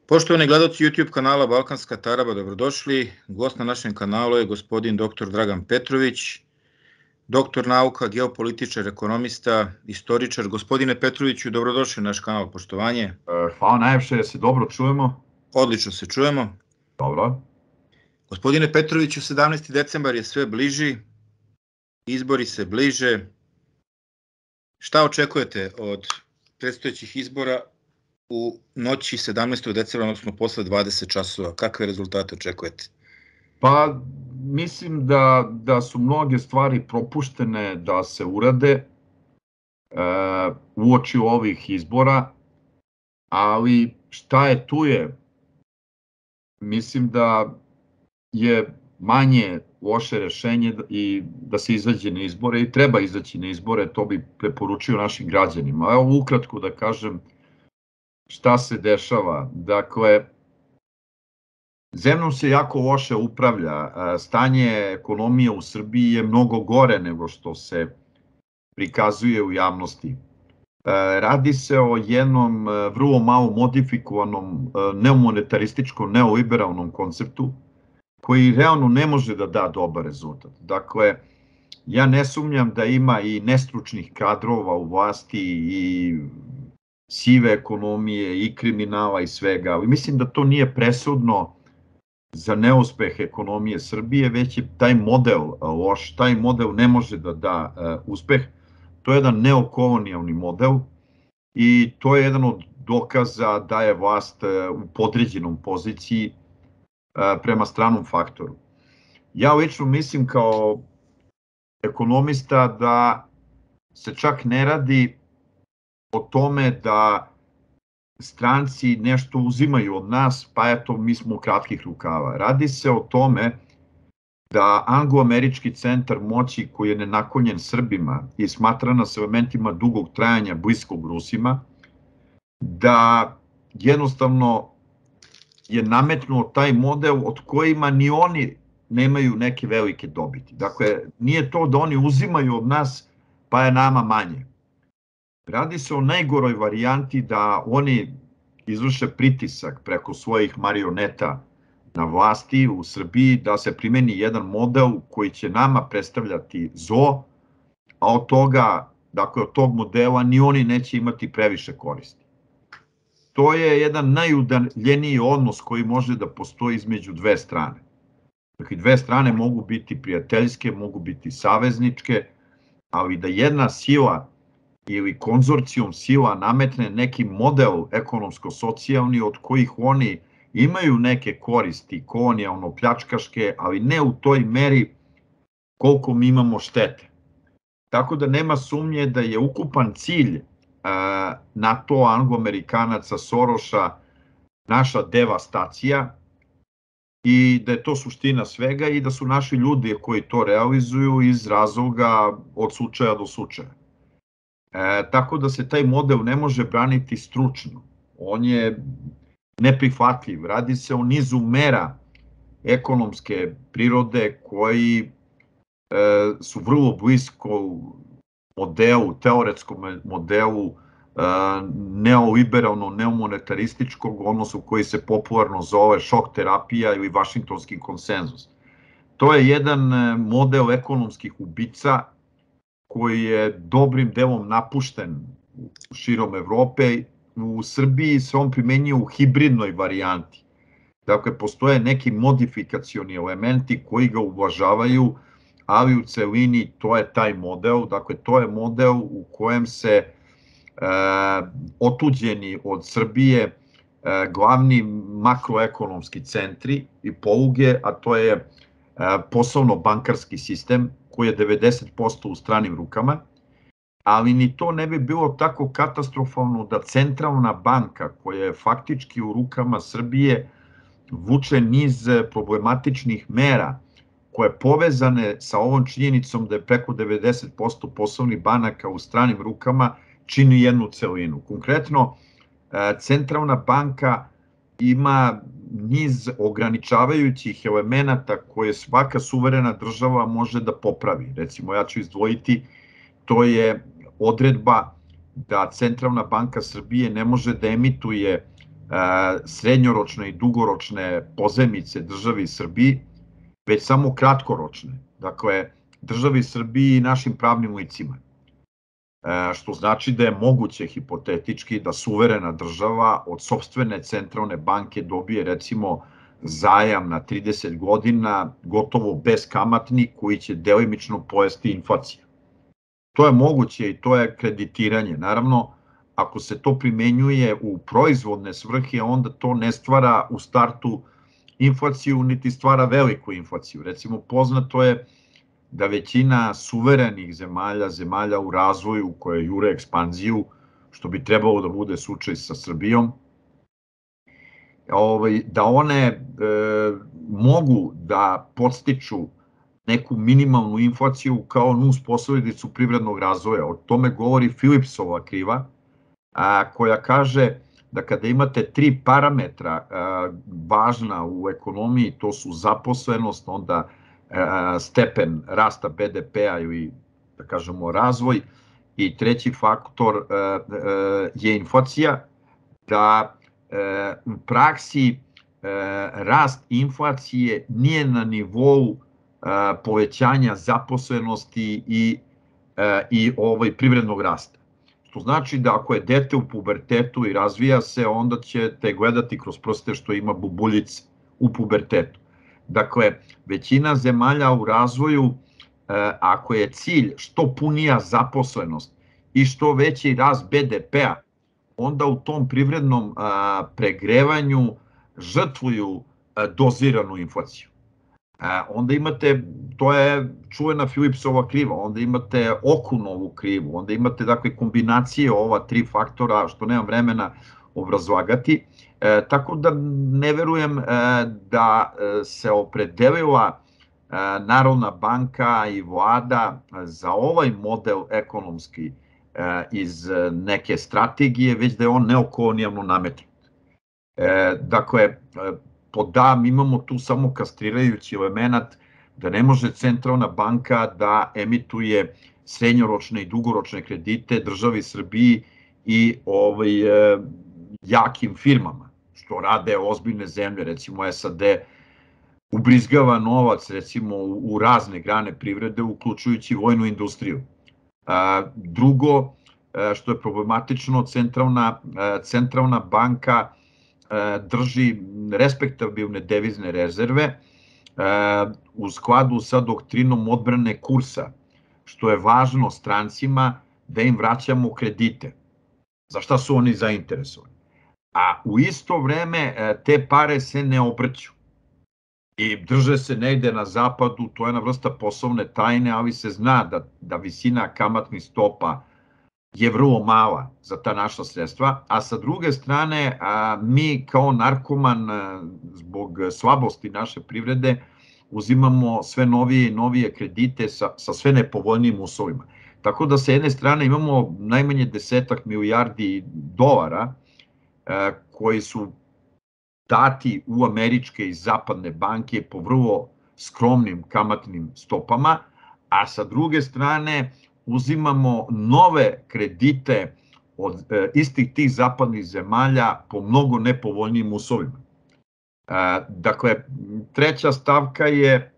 Poštovani gledaoci YouTube kanala Balkanska Taraba, dobrodošli. Gost na našem kanalu je gospodin dr. Dragan Petrović, doktor nauka, geopolitičar, ekonomista, istoričar. Gospodine Petroviću, dobrodošli na naš kanal, poštovanje. Hvala najviše, se dobro čujemo? Odlično se čujemo. Dobro. Gospodine Petroviću, 17. decembar je sve bliži, izbori se bliže. Šta očekujete od predstojećih izbora u noći 17. decembra, odnosno posle 20 časova? Kakve rezultate očekujete? Pa, mislim da su mnoge stvari propuštene da se urade uoči ovih izbora, ali šta je tu je. Mislim da je manje loše rešenje i da se izađe na izbore i treba izaći na izbore, to bi preporučio našim građanima. Evo ukratko da kažem šta se dešava. Dakle, zemljom se jako loše upravlja. Stanje ekonomije u Srbiji je mnogo gore nego što se prikazuje u javnosti. Radi se o jednom vrlo malo modifikovanom neomonetarističkom, neoliberalnom konceptu koji realno ne može da da dobar rezultat. Dakle, ja ne sumnjam da ima i nestručnih kadrova u vlasti i sive ekonomije i kriminala i svega, ali mislim da to nije presudno za neuspeh ekonomije Srbije, već je taj model loš, taj model ne može da da uspeh. To je jedan neokolonijalni model i to je jedan od dokaza da je vlast u podređenom poziciji prema stranom faktoru. Ja lično mislim kao ekonomista da se čak ne radi o tome da stranci nešto uzimaju od nas, pa eto mi smo kratkih rukava. Radi se o tome da anglo-američki centar moći koji je nenaklonjen Srbima i smatrana sa elementima dugog trajanja bliskog Rusima, da jednostavno je nametnuo taj model od kojima ni oni nemaju neke velike dobiti. Dakle, nije to da oni uzimaju od nas pa je nama manje. Radi se o najgoroj varijanti da oni izvrše pritisak preko svojih marioneta na vlasti u Srbiji da se primeni jedan model koji će nama predstavljati zlo, a od toga, dakle od tog modela ni oni neće imati previše koristi. To je jedan najudaljeniji odnos koji može da postoji između dve strane. Dakle, dve strane mogu biti prijateljske, mogu biti savezničke, ali da jedna sila ili konzorcijum sila nametne neki model ekonomsko-socijalni od kojih oni imaju neke koristi, kolonijalno-pljačkaške, ali ne u toj meri koliko mi imamo štete. Tako da nema sumnje da je ukupan cilj NATO, Anglo-Amerikanaca, Soroša, naša devastacija i da je to suština svega i da su naši ljudi koji to realizuju iz razloga od slučaja do slučaja. Tako da se taj model ne može braniti stručno. On je neprihvatljiv. Radi se o nizu mera ekonomske prirode koji su vrlo blisko modelu, teoretskom modelu neoliberalno, neomonetarističkog, odnosno koji se popularno zove šok terapija ili vašingtonski konsenzus. To je jedan model ekonomskih ubica koji je dobrim delom napušten širom Evrope. U Srbiji se on primenjuje u hibridnoj varijanti. Dakle, postoje neki modifikacioni elementi koji ga ublažavaju, ali u celini to je taj model. Dakle, to je model u kojem se otuđeni od Srbije glavni makroekonomski centri i poluge, a to je poslovno-bankarski sistem koji je 90% u stranim rukama, ali ni to ne bi bilo tako katastrofalno da centralna banka koja je faktički u rukama Srbije vuče niz problematičnih mera koje povezane sa ovom činjenicom da je preko 90% poslovnih banaka u stranim rukama čini jednu celinu. Konkretno, centralna banka ima niz ograničavajućih elemenata koje svaka suverena država može da popravi. Recimo, ja ću izdvojiti, to je odredba da Centralna banka Srbije ne može da emituje srednjoročne i dugoročne pozajmice državi Srbiji, već samo kratkoročne, dakle državi Srbiji i našim pravnim licima. Što znači da je moguće hipotetički da suverena država od sopstvene centralne banke dobije recimo zajam na 30 godina gotovo beskamatni koji će delimično pojesti inflacija. To je moguće i to je kreditiranje. Naravno, ako se to primenjuje u proizvodne svrhe, onda to ne stvara u startu inflaciju, niti stvara veliku inflaciju. Recimo, poznato je da većina suverenih zemalja, zemalja u razvoju koje jure ekspanziju, što bi trebalo da bude slučaj sa Srbijom, da one mogu da podstiču neku minimalnu inflaciju kao nus posledicu privrednog razvoja. O tome govori Philipsova kriva, koja kaže da kada imate 3 parametra važna u ekonomiji, to su zaposlenost, onda stepen rasta BDP-a ili, da kažemo, razvoj, i treći faktor je inflacija, da u praksi rast inflacije nije na nivou povećanja zaposlenosti i privrednog rasta. Što znači da ako je dete u pubertetu i razvija se, onda ćete gledati kroz prste što ima bubuljice u pubertetu. Dakle, većina zemalja u razvoju, ako je cilj što punija zaposlenost i što veći rast BDP-a, onda u tom privrednom pregrevanju žrtvuju doziranu inflaciju. Onda imate, to je čuvena Philipsova kriva, onda imate Okunovu krivu, onda imate dakle kombinacije ova 3 faktora, što nemam vremena obrazlagati. Tako da ne verujem da se opredelila Narodna banka i vlada za ovaj model ekonomski iz neke strategije, već da je on neokolonijalno nametnut. Dakle, pod A mi imamo tu samo kastrirajući element da ne može centralna banka da emituje srednjoročne i dugoročne kredite državi Srbiji i jakim firmama, što rade ozbiljne zemlje, recimo SAD ubrizgava novac recimo u razne grane privrede, uključujući vojnu industriju. Drugo, što je problematično, centralna banka drži respektabilne devizne rezerve u skladu sa doktrinom odbrane kursa, što je važno strancima da im vraćamo kredite. Za šta su oni zainteresovani? A u isto vreme te pare se ne obrću i drže se negde na zapadu, to je jedna vrsta poslovne tajne, ali se zna da visina kamatnih stopa je vrlo mala za ta naša sredstva, a sa druge strane mi kao narkoman zbog slabosti naše privrede uzimamo sve novije i novije kredite sa sve nepovoljnijim uslovima. Tako da sa jedne strane imamo najmanje 10 milijardi dolara koji su dati u američke i zapadne banke po vrlo skromnim kamatnim stopama, a sa druge strane uzimamo nove kredite od istih tih zapadnih zemalja po mnogo nepovoljnijim uslovima. Dakle, treća stavka je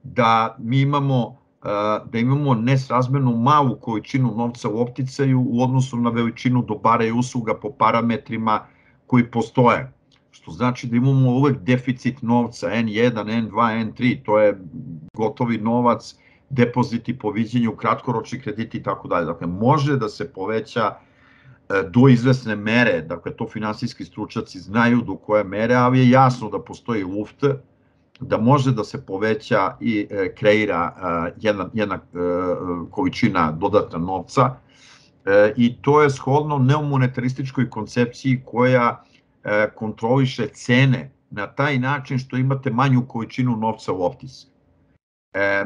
da mi imamo nesrazmerno malu količinu novca u opticaju u odnosu na veličinu dobara i usluga po parametrima koji postoje. Što znači da imamo uvek deficit novca, N1, N2, N3, to je gotovi novac, depoziti po viđenju, kratkoročni krediti i tako dalje. Dakle, može da se poveća do izvesne mere, dakle, to finansijski stručnjaci znaju do koje mere, ali je jasno da postoji luft, da može da se poveća i kreira jedna količina dodatna novca i to je shodno neomonetarističkoj koncepciji koja kontroliše cene na taj način što imate manju količinu novca u optici.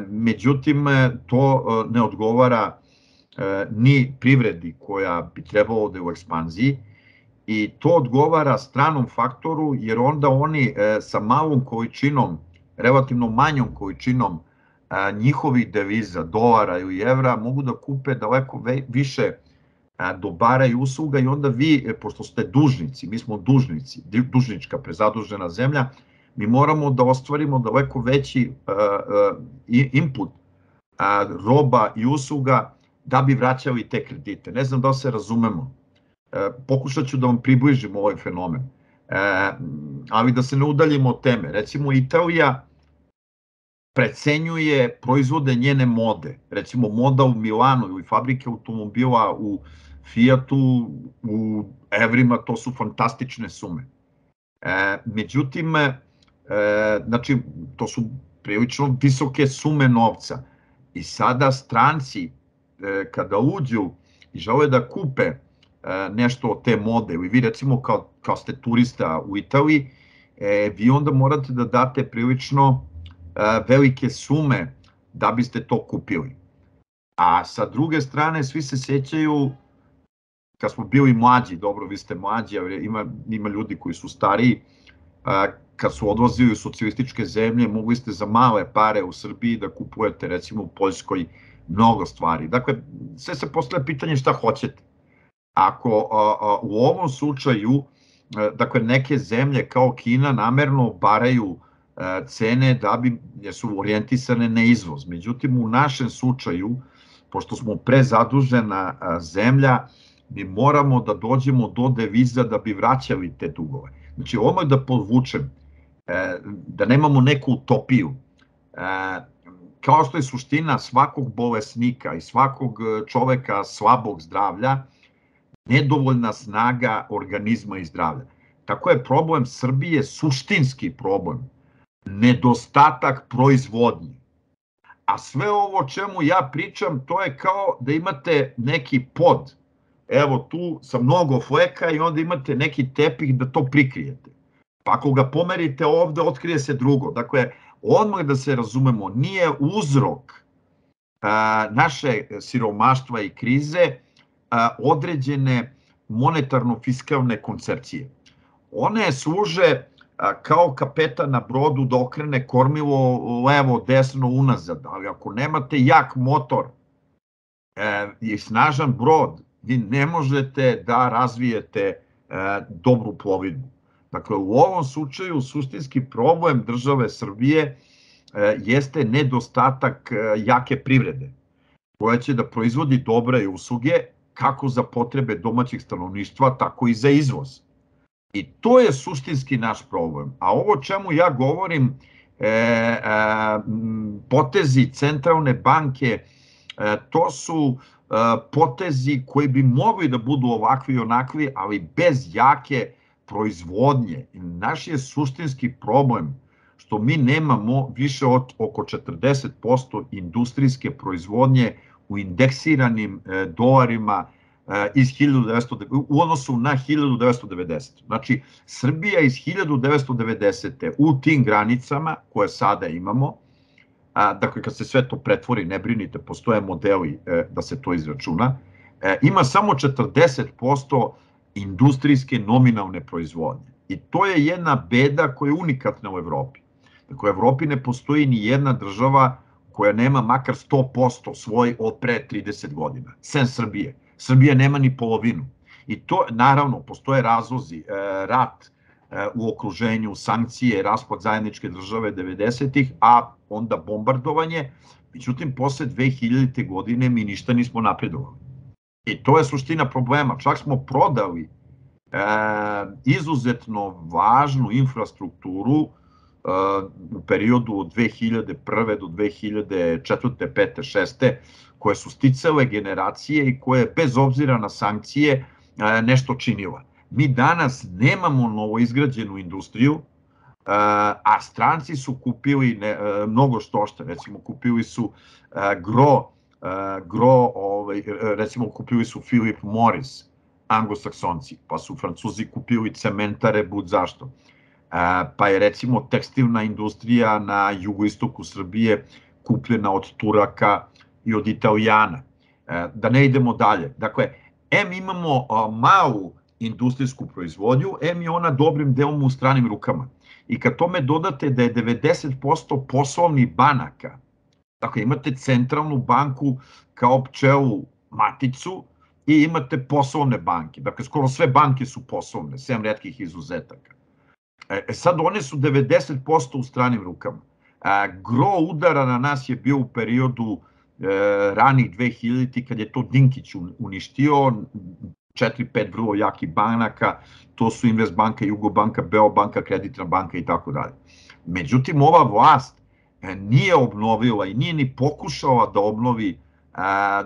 Međutim, to ne odgovara ni privredi koja bi trebalo da je u ekspanziji i to odgovara stranom faktoru jer onda oni sa malom količinom, relativno manjom količinom njihovih deviza, dolara ili evra mogu da kupe daleko više dobara i usluga i onda vi, pošto ste dužnici, mi smo dužnici, dužnička prezadužena zemlja, mi moramo da ostvarimo daleko veći input roba i usluga da bi vraćali te kredite. Ne znam da li se razumemo. Pokušat ću da vam približim ovaj fenomen, ali da se ne udaljimo od teme. Recimo, Italija precenjuje proizvode njene mode. Recimo, moda u Milanu ili fabrike automobila u Fiatu, u evrima, to su fantastične sume. Međutim, znači, to su prilično visoke sume novca. I sada stranci, kada uđu i žele da kupe nešto od te mode, ili vi recimo kao ste turista u Italiji, vi onda morate da date prilično velike sume da biste to kupili. A sa druge strane, svi se sećaju, kad smo bili mlađi, dobro, vi ste mlađi, ali ima ljudi koji su stariji, kad su odlazili u socijalističke zemlje, mogli ste za male pare u Srbiji da kupujete, recimo u Poljskoj, mnogo stvari. Dakle, sve se postavlja pitanje šta hoćete. Ako u ovom slučaju, dakle, neke zemlje kao Kina namerno baraju cene da bi, jer su orijentisane na izvoz. Međutim, u našem slučaju, pošto smo prezadužena zemlja, mi moramo da dođemo do deviza da bi vraćali te dugove. Znači, odmah da podvučem, da nemamo neku utopiju. Kao što je suština svakog bolesnika i svakog čoveka slabog zdravlja, nedovoljna snaga organizma i zdravlja. Tako je problem Srbije suštinski problem. Nedostatak proizvodnje. A sve ovo o čemu ja pričam, to je kao da imate neki pod, evo tu sa mnogo fleka i onda imate neki tepih da to prikrijete. Pa ako ga pomerite ovde, otkrije se drugo. Dakle, odmah da se razumemo, nije uzrok naše siromaštva i krize određene monetarno-fiskalne koncepcije. One služe kao kapetan na brodu da okrene kormilo levo, desno, unazad, ali ako nemate jak motor i snažan brod, vi ne možete da razvijete dobru plovidbu. Dakle, u ovom slučaju suštinski problem države Srbije jeste nedostatak jake privrede, koja će da proizvodi dobre usluge kako za potrebe domaćih stanovništva, tako i za izvoz. I to je suštinski naš problem. A ovo čemu ja govorim, potezi centralne banke, to su potezi koji bi mogli da budu ovakvi i onakvi, ali bez jake proizvodnje. Naš je suštinski problem što mi nemamo više od oko 40% industrijske proizvodnje u indeksiranim dolarima u odnosu na 1990. Znači, Srbija iz 1990. u tim granicama koje sada imamo, dakle kad se sve to pretvori, ne brinite, postoje modeli da se to izračuna, ima samo 40% industrijske nominalne proizvodnje. I to je jedna beda koja je unikatna u Evropi. Dakle, u Evropi ne postoji ni jedna država koja nema makar 100% svoj od pre 30 godina, sem Srbije. Srbija nema ni polovinu. I to, naravno, postoje razlozi, rat u okruženju, sankcije, raspad zajedničke države 90-ih, a onda bombardovanje. Međutim, posle 2000. godine mi ništa nismo napredovali. I to je suština problema. Čak smo prodali izuzetno važnu infrastrukturu u periodu od 2001. do 2004. 5. 6. koje su sticale generacije i koje bez obzira na sankcije nešto činila. Mi danas nemamo novoizgrađenu industriju, a stranci su kupili mnogo štošta, recimo kupili su recimo kupili su Philip Morris, anglosaksonci, pa su Francuzi kupili cementare, bud zašto. Pa je recimo tekstilna industrija na jugoistoku Srbije kupljena od Turaka i od Italijana. Da ne idemo dalje. Dakle, imamo malu industrijsku proizvodnju, je ona dobrim delom u stranim rukama. I kad tome dodate da je 90% poslovnih banaka, dakle imate centralnu banku kao pčelu maticu, i imate poslovne banke. Dakle, skoro sve banke su poslovne, sem retkih izuzetaka. Sad one su 90% u stranim rukama. Gro udara na nas je bio u periodu ranih 2000-ti kad je to Dinkić uništio, 4-5 vrlo jakih banaka, to su Investbanka, Jugobanka, Beobanka, Kreditna banka i tako dalje. Međutim, ova vlast nije obnovila i nije ni pokušala da obnovi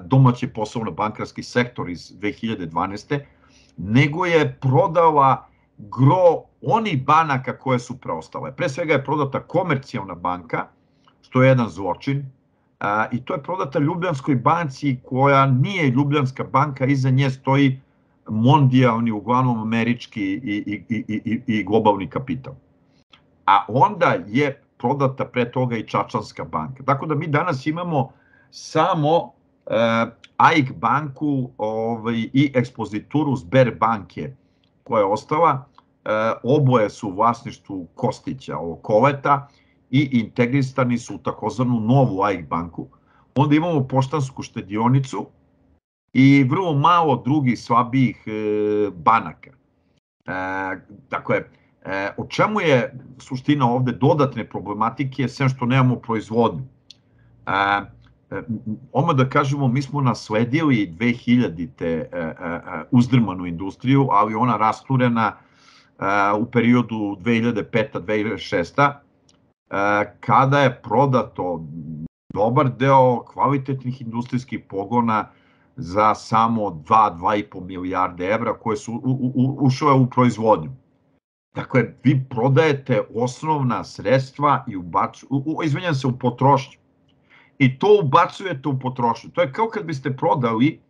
domaći poslovno-bankarski sektor iz 2012. nego je prodala gro onih banaka koje su preostale. Pre svega je prodata Komercijalna banka, što je jedan zločin, i to je prodata Ljubljanskoj banci koja nije Ljubljanska banka, iza nje stoji mondijalni, uglavnom američki i globalni kapital. A onda je prodata pre toga i Čačanska banka. Tako da mi danas imamo samo AIK banku i ekspozituru Sberbanke koja je ostala. Oboje su u vlasništvu Kostića, Koleta, i integrisani su u takozvanu novu AIK banku. Onda imamo Poštansku štedionicu i vrlo malo drugih slabijih banaka. Dakle, o čemu je suština ovde dodatne problematike, sem što nemamo proizvodnju? Odmah da kažemo, mi smo nasledili 2000-te uzdrmanu industriju, ali ona rasturena u periodu 2005-2006, kada je prodato dobar deo kvalitetnih industrijskih pogona za samo 2-2,5 milijarde evra koje su ušle u proizvodnju. Dakle, vi prodajete osnovna sredstva i u potrošnju. I to ubacujete u potrošnju. To je kao kad biste prodali,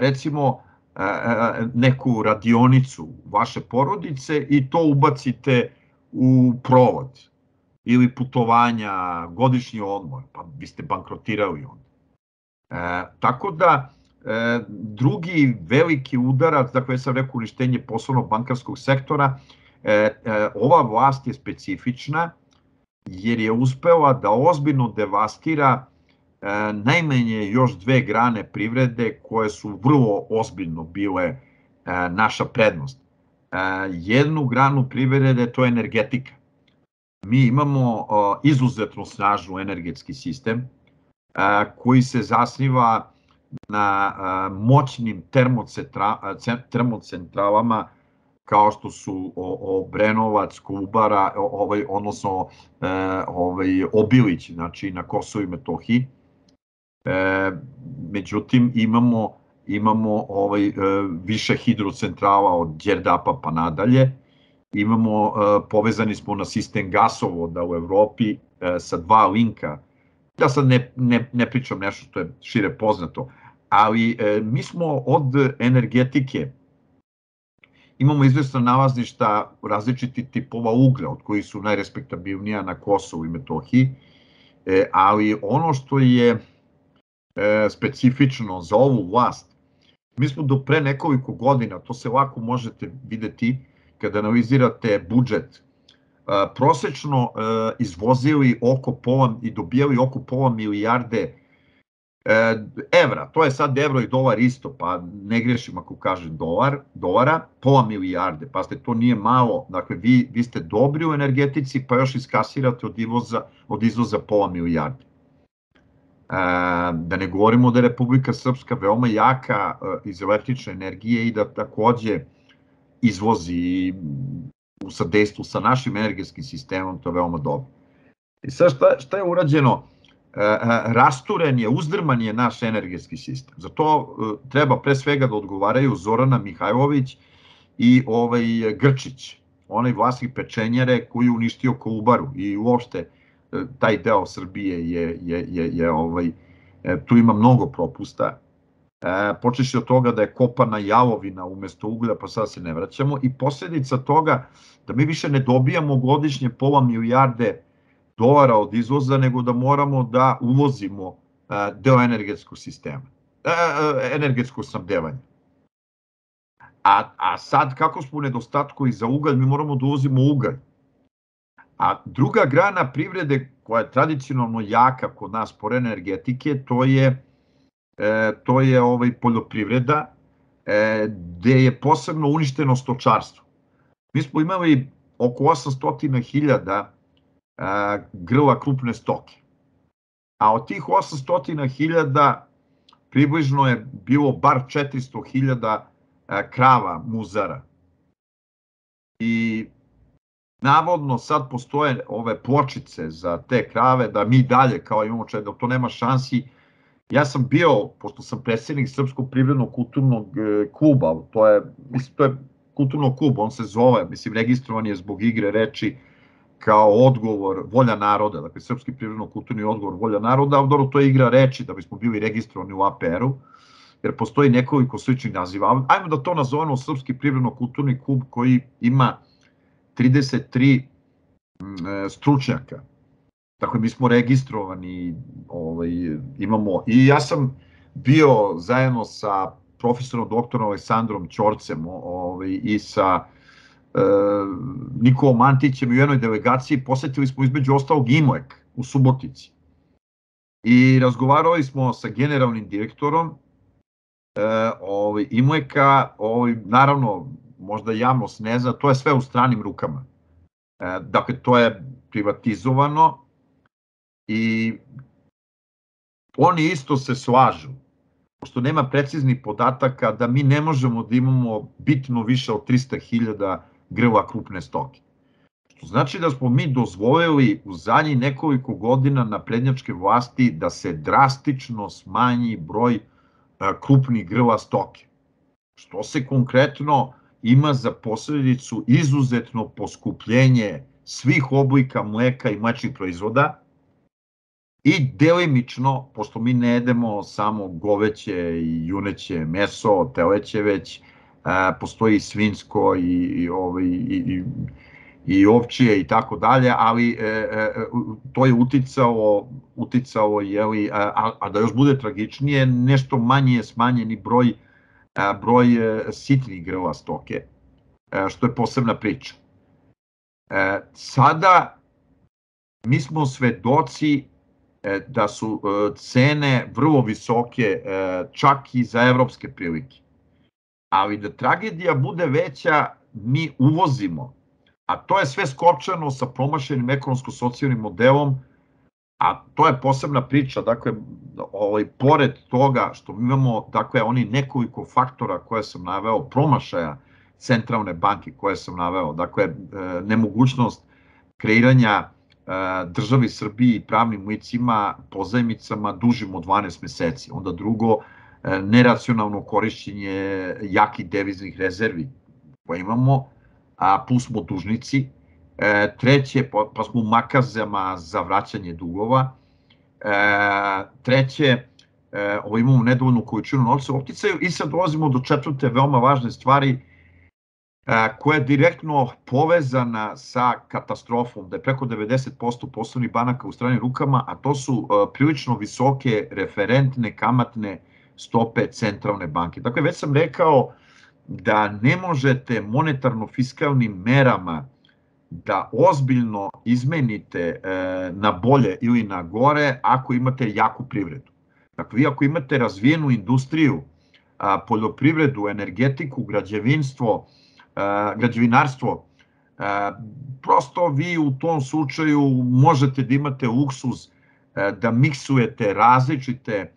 recimo, neku radionicu vaše porodice i to ubacite u provod ili putovanja, godišnji odmor, pa biste bankrotirali onda. Tako da, drugi veliki udarac, dakle, ja sam rekao uništenje poslovnog bankarskog sektora, ova vlast je specifična jer je uspela da ozbiljno devastira najmanje još dve grane privrede koje su vrlo ozbiljno bile naša prednost. Jednu granu privrede, to je energetika. Mi imamo izuzetno snažnu energetski sistem koji se zasniva na moćnim termocentralama kao što su Obrenovac, Kolubara, odnosno Obilić, znači na Kosovu i Metohiji. Međutim, imamo više hidrocentrala od Đerdapa pa nadalje. Povezani smo na sistem gasovoda u Evropi sa 2 linka. Ja sad ne pričam nešto što je šire poznato, ali mi smo od energetike, imamo izvesna nalazništa različitih tipova uglja, od kojih su najrespektabilnija na Kosovu i Metohiji, ali ono što je specifično za ovu vlast, mi smo do pre nekoliko godina, to se lako možete videti kada analizirate budžet, prosečno izvozili i dobijali oko pola milijarde evra. To je sad evro i dolar isto, pa ne grešim ako kažem dolara, pola milijarde. Pazite, to nije malo. Dakle, vi ste dobri u energetici, pa još iskasirate od izvoza pola milijarde. Da ne govorimo da je Republika Srpska veoma jaka iz električne energije i da takođe izvozi u sadejstvu sa našim energetskim sistemom, to je veoma dobro. I sad šta je urađeno? Rasturen je, uzdrman je naš energetski sistem. Za to treba pre svega da odgovaraju Zorana Mihajlović i Grčić, onaj vlasnik pečenjare koji je uništio Kolubaru i uopšte taj deo Srbije tu ima mnogo propusta. Počeši od toga da je kopana jalovina umesto uglja, pa sad se ne vraćamo, i posledica toga da mi više ne dobijamo godišnje pola milijarde dolara od izvoza, nego da moramo da uvozimo deo energetskog sistema, energetskog snabdevanja. A sad kako smo u nedostatku i za ugalj, mi moramo da uvozimo ugalj. A druga grana privrede koja je tradicionalno jaka kod nas pored energetike, to je to je poljoprivreda, gde je posebno uništeno stočarstvo. Mi smo imali oko 800.000 grla krupne stoke, a od tih 800.000 približno je bilo bar 400.000 krava muzara. I navodno sad postoje ove pločice za te krave, da mi dalje kao imamo da to nema šansi. Ja sam bio, pošto sam predsjednik Srpskog privrednog kulturnog kluba, to je kulturnog kluba, on se zove, registrovan je zbog igre reči kao odgovor Volja naroda, dakle Srpski privredno-kulturni odgovor Volja naroda, ali dobro, to je igra reči da bismo bili registrovani u APR-u, jer postoji nekoliko sličnih naziva. Ajmo da to nazovemo Srpski privredno-kulturni klub koji ima 33 stručnjaka. Dakle, mi smo registrovani, imamo, i ja sam bio zajedno sa profesorom doktorom Aleksandrom Ćorcem i sa Nikolom Antićem u jednoj delegaciji, posetili smo između ostalog IMOEK u Subotici. I razgovarali smo sa generalnim direktorom IMOEK-a, naravno, možda javnost ne zna, to je sve u stranim rukama. Dakle, to je privatizovano i oni isto se slažu, pošto nema preciznih podataka, da mi ne možemo da imamo bitno više od 300.000 grla krupne stoke. Što znači da smo mi dozvolili u zadnjih nekoliko godina naprednjačke vlasti da se drastično smanji broj krupnih grla stoke, što se konkretno ima za posledicu izuzetno poskupljenje svih oblika mleka i mlečnih proizvoda i delimično, pošto mi ne jedemo samo goveće i juneće meso, teleće već, postoji i svinjsko i ovčije i tako dalje, ali to je uticalo, a da još bude tragičnije, nešto manje je smanjeni broj sitnih grla stoke, što je posebna priča. Sada mi smo svedoci da su cene vrlo visoke, čak i za evropske prilike. Ali da tragedija bude veća, mi uvozimo, a to je sve skopčano sa promašenim ekonomsko-socijalnim modelom, a to je posebna priča. Dakle, pored toga što mi imamo, dakle, oni nekoliko faktora koje sam naveo, promašaja centralne banke koje sam naveo, dakle, nemogućnost kreiranja državi Srbiji i pravnim licima pozajmicama dužim od 12 meseci. Onda drugo, neracionalno korišćenje jakih deviznih rezervi koje imamo, a plus smo dužnici. Treće, pa smo u makazama za vraćanje dugova. Treće, imamo nedovoljnu količinu novca u opticaju i sad dolazimo do četvrte veoma važne stvari koja je direktno povezana sa katastrofom, da je preko 90% poslovnih banaka u stranim rukama, a to su prilično visoke referentne kamatne stope centralne banke. Dakle, već sam rekao da ne možete monetarno-fiskalnim merama da ozbiljno izmenite na bolje ili na gore ako imate jaku privredu. Dakle, vi ako imate razvijenu industriju, poljoprivredu, energetiku, građevinarstvo, prosto vi u tom slučaju možete da imate luksuz da miksujete različite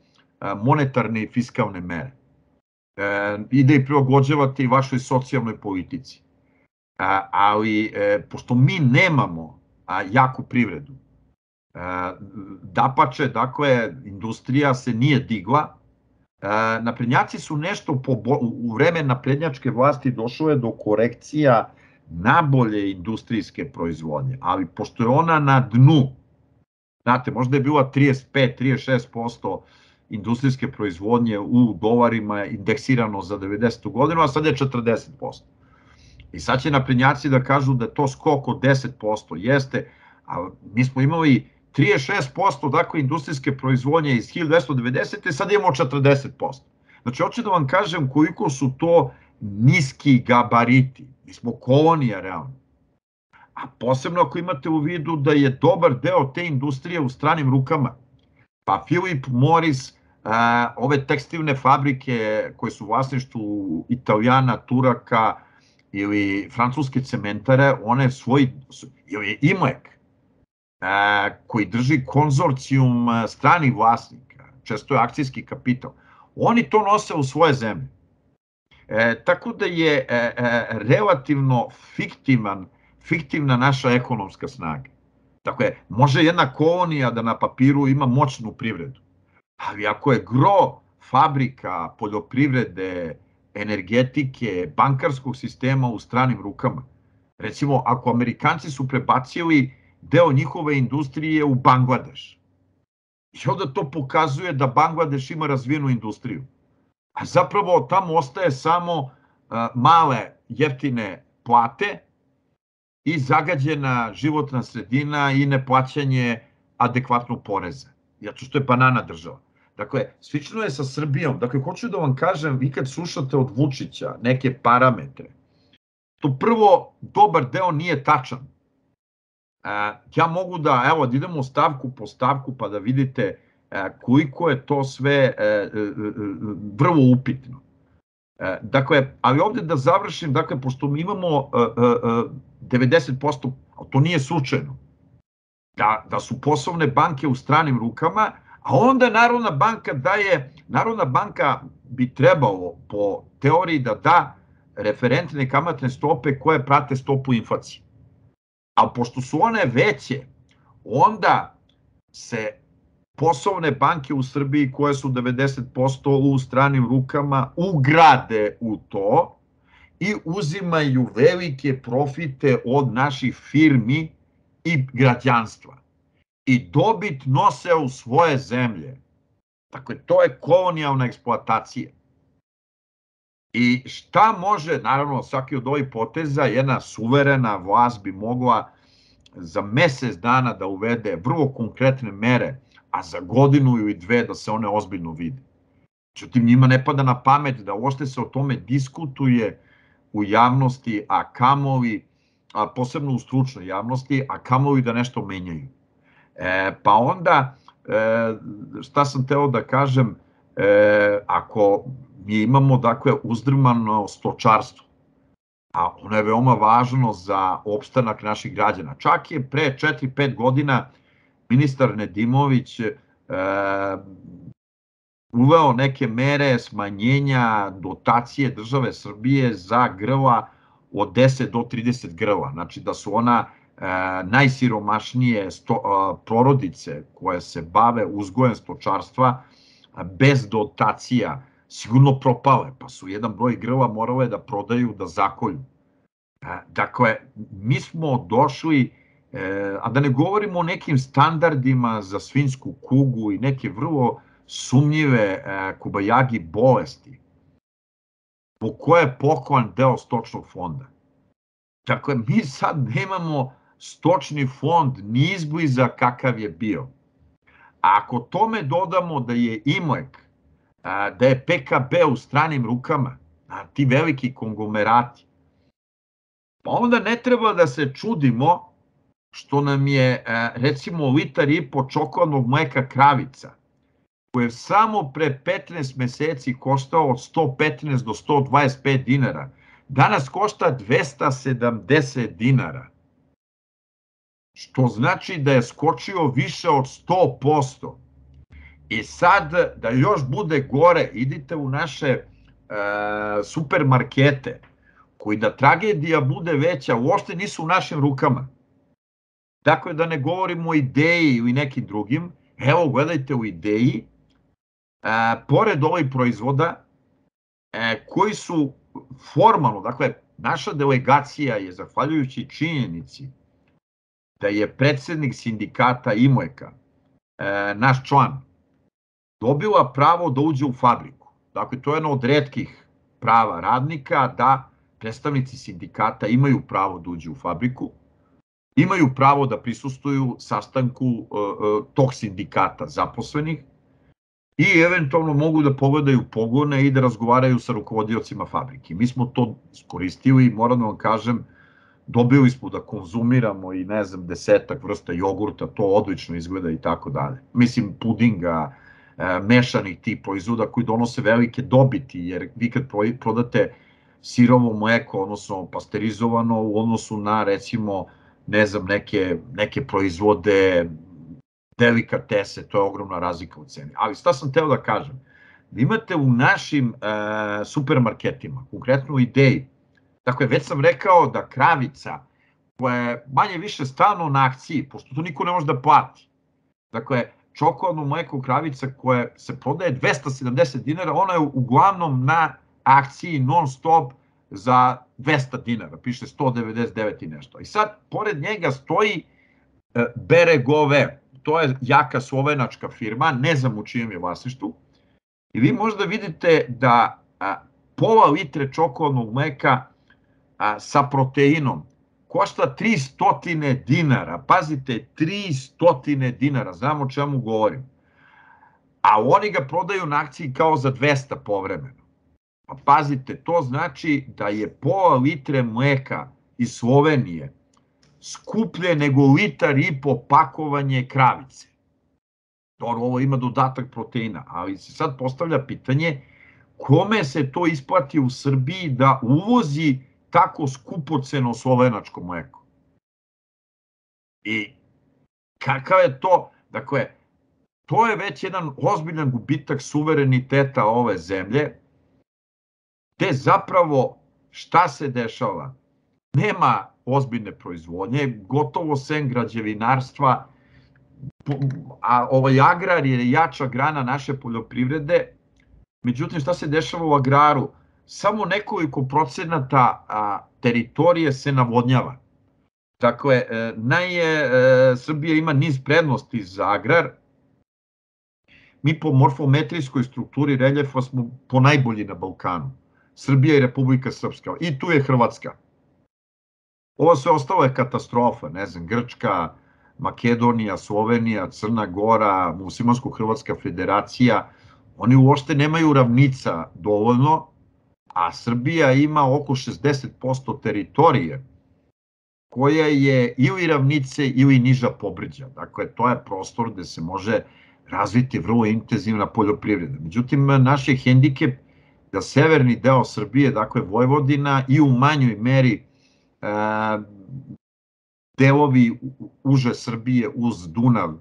monetarne i fiskalne mere i da ih prilagođavate i vašoj socijalnoj politici. Ali, pošto mi nemamo jaku privredu, dapače, dakle, industrija se nije digla, naprednjaci su nešto, u vreme naprednjačke vlasti došlo je do korekcija nabolje industrijske proizvodnje, ali pošto je ona na dnu, znate, možda je bila 35-36% industrijske proizvodnje u dolarima indeksirano za 90. godinu, a sad je 40%. I sad će naprednjaci da kažu da je to skok od 10%, jeste, a mi smo imali 36% dakle industrijske proizvodnje iz 1990. sad imamo 40%. Znači, hoću da vam kažem koliko su to niski gabariti. Mi smo kolonija realno. A posebno ako imate u vidu da je dobar deo te industrije u stranim rukama. Pa Philip Morris ove tekstilne fabrike koje su u vlasništvu Italijana, Turaka ili francuske cementare, one ili Imlek, koji drži konzorcijum stranih vlasnika, često je akcijski kapital, oni to nose u svoje zemlje. Tako da je relativno fiktivna naša ekonomska snaga. Dakle, može jedna kolonija da na papiru ima moćnu privredu, ali ako je gro fabrika, poljoprivrede, energetike, bankarskog sistema u stranim rukama, recimo ako Amerikanci su prebacili deo njihove industrije u Bangladeš, i onda to pokazuje da Bangladeš ima razvijenu industriju, a zapravo tamo ostaje samo male jeftine plate i zagađena životna sredina i neplaćanje adekvatnog poreza, zato što je banana država. Dakle, slično je sa Srbijom. Dakle, hoću da vam kažem, vi kad slušate od Vučića neke parametre, to prvo, dobar deo nije tačan. Ja mogu da, evo, da idemo stavku po stavku pa da vidite koliko je to sve vrlo upitno. Dakle, ali ovde da završim, dakle, pošto mi imamo 90%, ali to nije slučajno, da su poslovne banke u stranim rukama, a onda Narodna banka bi trebalo po teoriji da da referentne kamatne stope koje prate stopu inflacije. Ali pošto su one veće, onda se poslovne banke u Srbiji koje su 90% u stranim rukama ugrade u to i uzimaju velike profite od naših firmi i građanstva. I dobit nose u svoje zemlje. Dakle, to je kolonijalna eksploatacija. I šta može, naravno, svaki od ovih poteza, jedna suverena vlast bi mogla za mesec dana da uvede vrlo konkretne mere, a za godinu ili dve da se one ozbiljno vide. Međutim, njima ne pada na pamet da uopšte se o tome diskutuje u javnosti, a kamoli, posebno u stručnoj javnosti, a kamoli da nešto menjaju. Pa onda, šta sam teo da kažem, ako mi imamo, dakle, uzdrmano stočarstvo, a ono je veoma važno za opstanak naših građana. Čak je pre 4-5 godina ministar Nedimović uveo neke mere smanjenja dotacije države Srbije za grla od 10 do 30 grla. Znači da su ona najsiromašnije porodice koje se bave uzgojem stočarstva bez dotacija sigurno propale, pa su jedan broj grla morale da prodaju, da zakolju. Dakle, mi smo došli, a da ne govorimo o nekim standardima za svinjsku kugu i neke vrlo sumnjive Kobajagi bolesti, po koje je poklan deo stočnog fonda. Dakle, mi sad nemamo stočni fond ni izbliza kakav je bio. A ako tome dodamo da je Imlek, da je PKB u stranim rukama, ti veliki konglomerati, pa onda ne treba da se čudimo što nam je, recimo, 1,5 litara čokoladnog mleka Kravica, koje je samo pre 15 meseci koštao od 115 do 125 dinara, danas košta 270 dinara. Što znači da je skočio više od 100%. I sad, da još bude gore, idite u naše supermarkete, koji da tragedija bude veća, uopšte nisu u našim rukama. Dakle, da ne govorimo o Ideji ili nekim drugim, evo, gledajte u Ideji, pored ovih proizvoda, koji su formalno, dakle, naša delegacija je, zahvaljujući činjenici da je predsednik sindikata Imleka, naš član, dobila pravo da uđe u fabriku. Dakle, to je jedno od retkih prava radnika, da predstavnici sindikata imaju pravo da uđe u fabriku, imaju pravo da prisustvuju sastanku tog sindikata zaposlenih i eventualno mogu da pogledaju pogone i da razgovaraju sa rukovodiocima fabrike. Mi smo to iskoristili i moram da vam kažem, dobili smo da konzumiramo i, ne znam, 10 vrsta jogurta, to odlično izgleda i tako dalje. Mislim, pudinga, mešanih tih proizvoda koji donose velike dobiti, jer vi kad prodate sirovo mleko, odnosno pasterizovano u odnosu na, recimo, ne znam, neke proizvode, delikatese, to je ogromna razlika u ceni. Ali šta sam teo da kažem? Vi imate u našim supermarketima, konkretno u Ideji, dakle, već sam rekao da kravica, koja je manje više stalno na akciji, pošto to niko ne može da plati, dakle, čokoladno mleko kravica koje se prodaje 270 dinara, ona je uglavnom na akciji non stop za 200 dinara, piše 199 i nešto. I sad, pored njega stoji Beregove, to je jaka slovenačka firma, ne znam u čijem je vlasništvu, i vi možda vidite da pola litre čokoladnog mleka sa proteinom košta 300 dinara, pazite, 300 dinara, znam o čemu govorim, a oni ga prodaju na akciji kao za 200 povremeno. Pa pazite, to znači da je pola litre mleka iz Slovenije skuplje nego 1,5 litara pakovanje kravice. Dobro, ovo ima dodatak proteina, ali se sad postavlja pitanje kome se to isplati u Srbiji da uvozi tako skupoceno slovenačko mleko. I kakav je to, dakle, to je već jedan ozbiljan gubitak suvereniteta ove zemlje, gde zapravo šta se dešava? Nema ozbiljne proizvodnje, gotovo sem građevinarstva, a agrar je jača grana naše poljoprivrede, međutim šta se dešava u agraru? Samo nekoliko procenata teritorije se navodnjava. Dakle, Srbija ima niz prednosti za agrar. Mi po morfometrijskoj strukturi reljefa smo ponajbolji na Balkanu. Srbija i Republika Srpska. I tu je Hrvatska. Ovo sve ostalo je katastrofa. Ne znam, Grčka, Makedonija, Slovenija, Crna Gora, Muslimansko-Hrvatska federacija. Oni uopšte nemaju ravnica dovoljno, a Srbija ima oko 60% teritorije koja je ili ravnice ili niža pobrđa. Dakle, to je prostor gde se može razviti vrlo intenzivna poljoprivreda. Međutim, naš je hendikep da severni deo Srbije, dakle Vojvodina i u manjoj meri delovi uže Srbije uz Dunav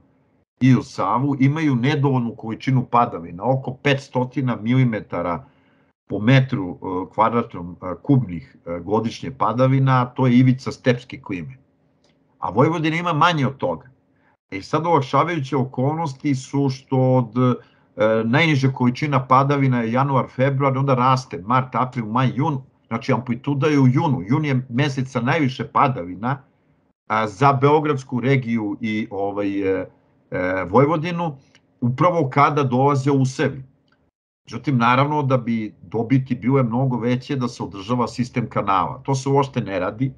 i uz Savu imaju nedovoljnu količinu padavina, oko 500 mm po metru kvadratnom kubnih godišnje padavina, to je ivica stepske klime. A Vojvodina ima manje od toga. I sad olakšavajuće okolnosti su što od najniže količina padavina je januar, februar, onda raste mart, april, maj, jun, znači amplituda je u junu. Jun je mesec sa najviše padavina za Beogradsku regiju i Vojvodinu, upravo kada dolaze usevi. Međutim, naravno da bi dobiti bile mnogo veće da se održava sistem kanala. To se uopšte ne radi.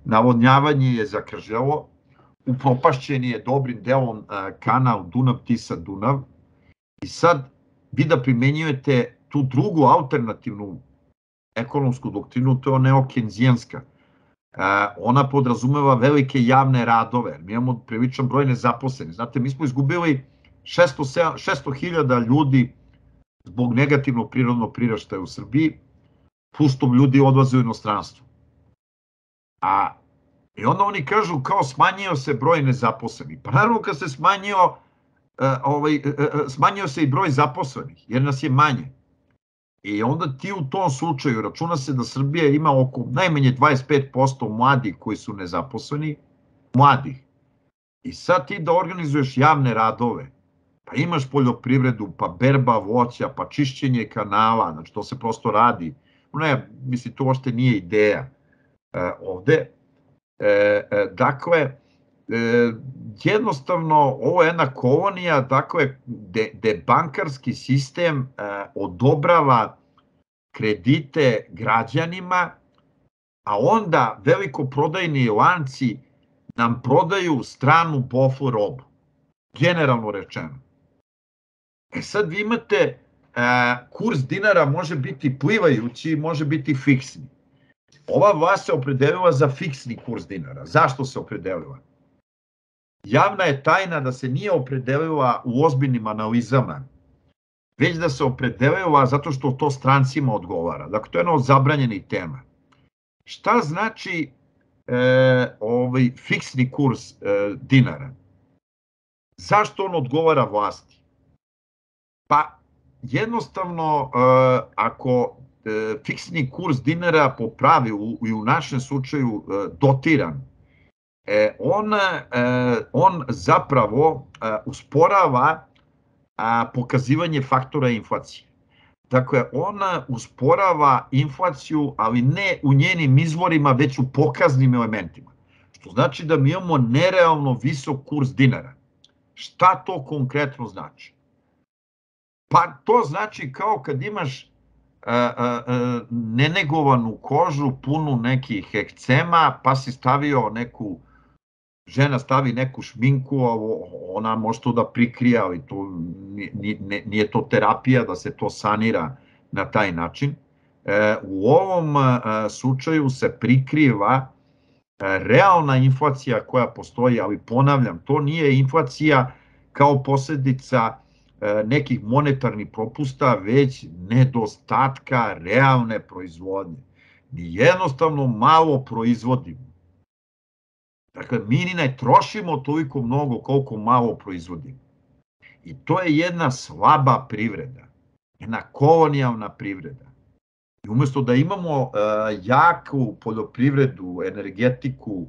Navodnjavanje je zakržljavo, upropašćen je dobrim delom kanal Dunav-Tisa-Dunav i sad vi da primenjujete tu drugu alternativnu ekonomsku doktrinu, to je neokenzijanska. Ona podrazumeva velike javne radove. Mi imamo priličan broj nezaposlenih. Znate, mi smo izgubili 600.000 ljudi zbog negativnog prirodnog priraštaja u Srbiji, plus što ljudi odlaze u inostranstvo. I onda oni kažu kao smanjio se broj nezaposlenih. Pa naravno kad se smanjio se i broj zaposlenih, jer nas je manje. I onda ti u tom slučaju računa se da Srbija ima oko najmanje 25% mladih koji su nezaposleni, mladih. I sad ti da organizuješ javne radove, pa imaš poljoprivredu, pa berba voća, pa čišćenje kanala, znači to se prosto radi. Ne, mislim, to uopšte nije ideja ovde. Dakle, jednostavno, ovo je jedna kolonija, dakle, gde bankarski sistem odobrava kredite građanima, a onda velikoprodajni lanci nam prodaju stranu bofl robu, generalno rečeno. Sad vi imate, kurs dinara može biti plivajući, može biti fiksni. Ova vlast se opredelila za fiksni kurs dinara. Zašto se opredelila? Javna je tajna da se nije opredelila u ozbiljnim analizama već da se opredelila zato što to strancima odgovara. Dakle, to je jedna od zabranjenih tema. Šta znači fiksni kurs dinara? Zašto on odgovara vlasti? Pa jednostavno, ako fiksni kurs dinara po pravilu i u našem slučaju dotiran, on zapravo usporava pokazivanje faktora inflacije. Dakle, ona usporava inflaciju, ali ne u njenim izvorima, već u pokaznim elementima. Što znači da mi imamo nerealno visok kurs dinara. Šta to konkretno znači? Pa to znači kao kad imaš nenegovanu kožu, punu nekih ekcema, pa si stavio žena stavi neku šminku, ona može to da prikrije, ali nije to terapija da se to sanira na taj način. U ovom slučaju se prikriva realna inflacija koja postoji, ali ponavljam, to nije inflacija kao posledica nekih monetarnih propusta, već nedostatka realne proizvodnje. Mi jednostavno malo proizvodimo. Dakle, mi ni ne trošimo toliko mnogo koliko malo proizvodimo. I to je jedna slaba privreda, jedna kolonijalna privreda. I umesto da imamo jaku poljoprivredu, energetiku,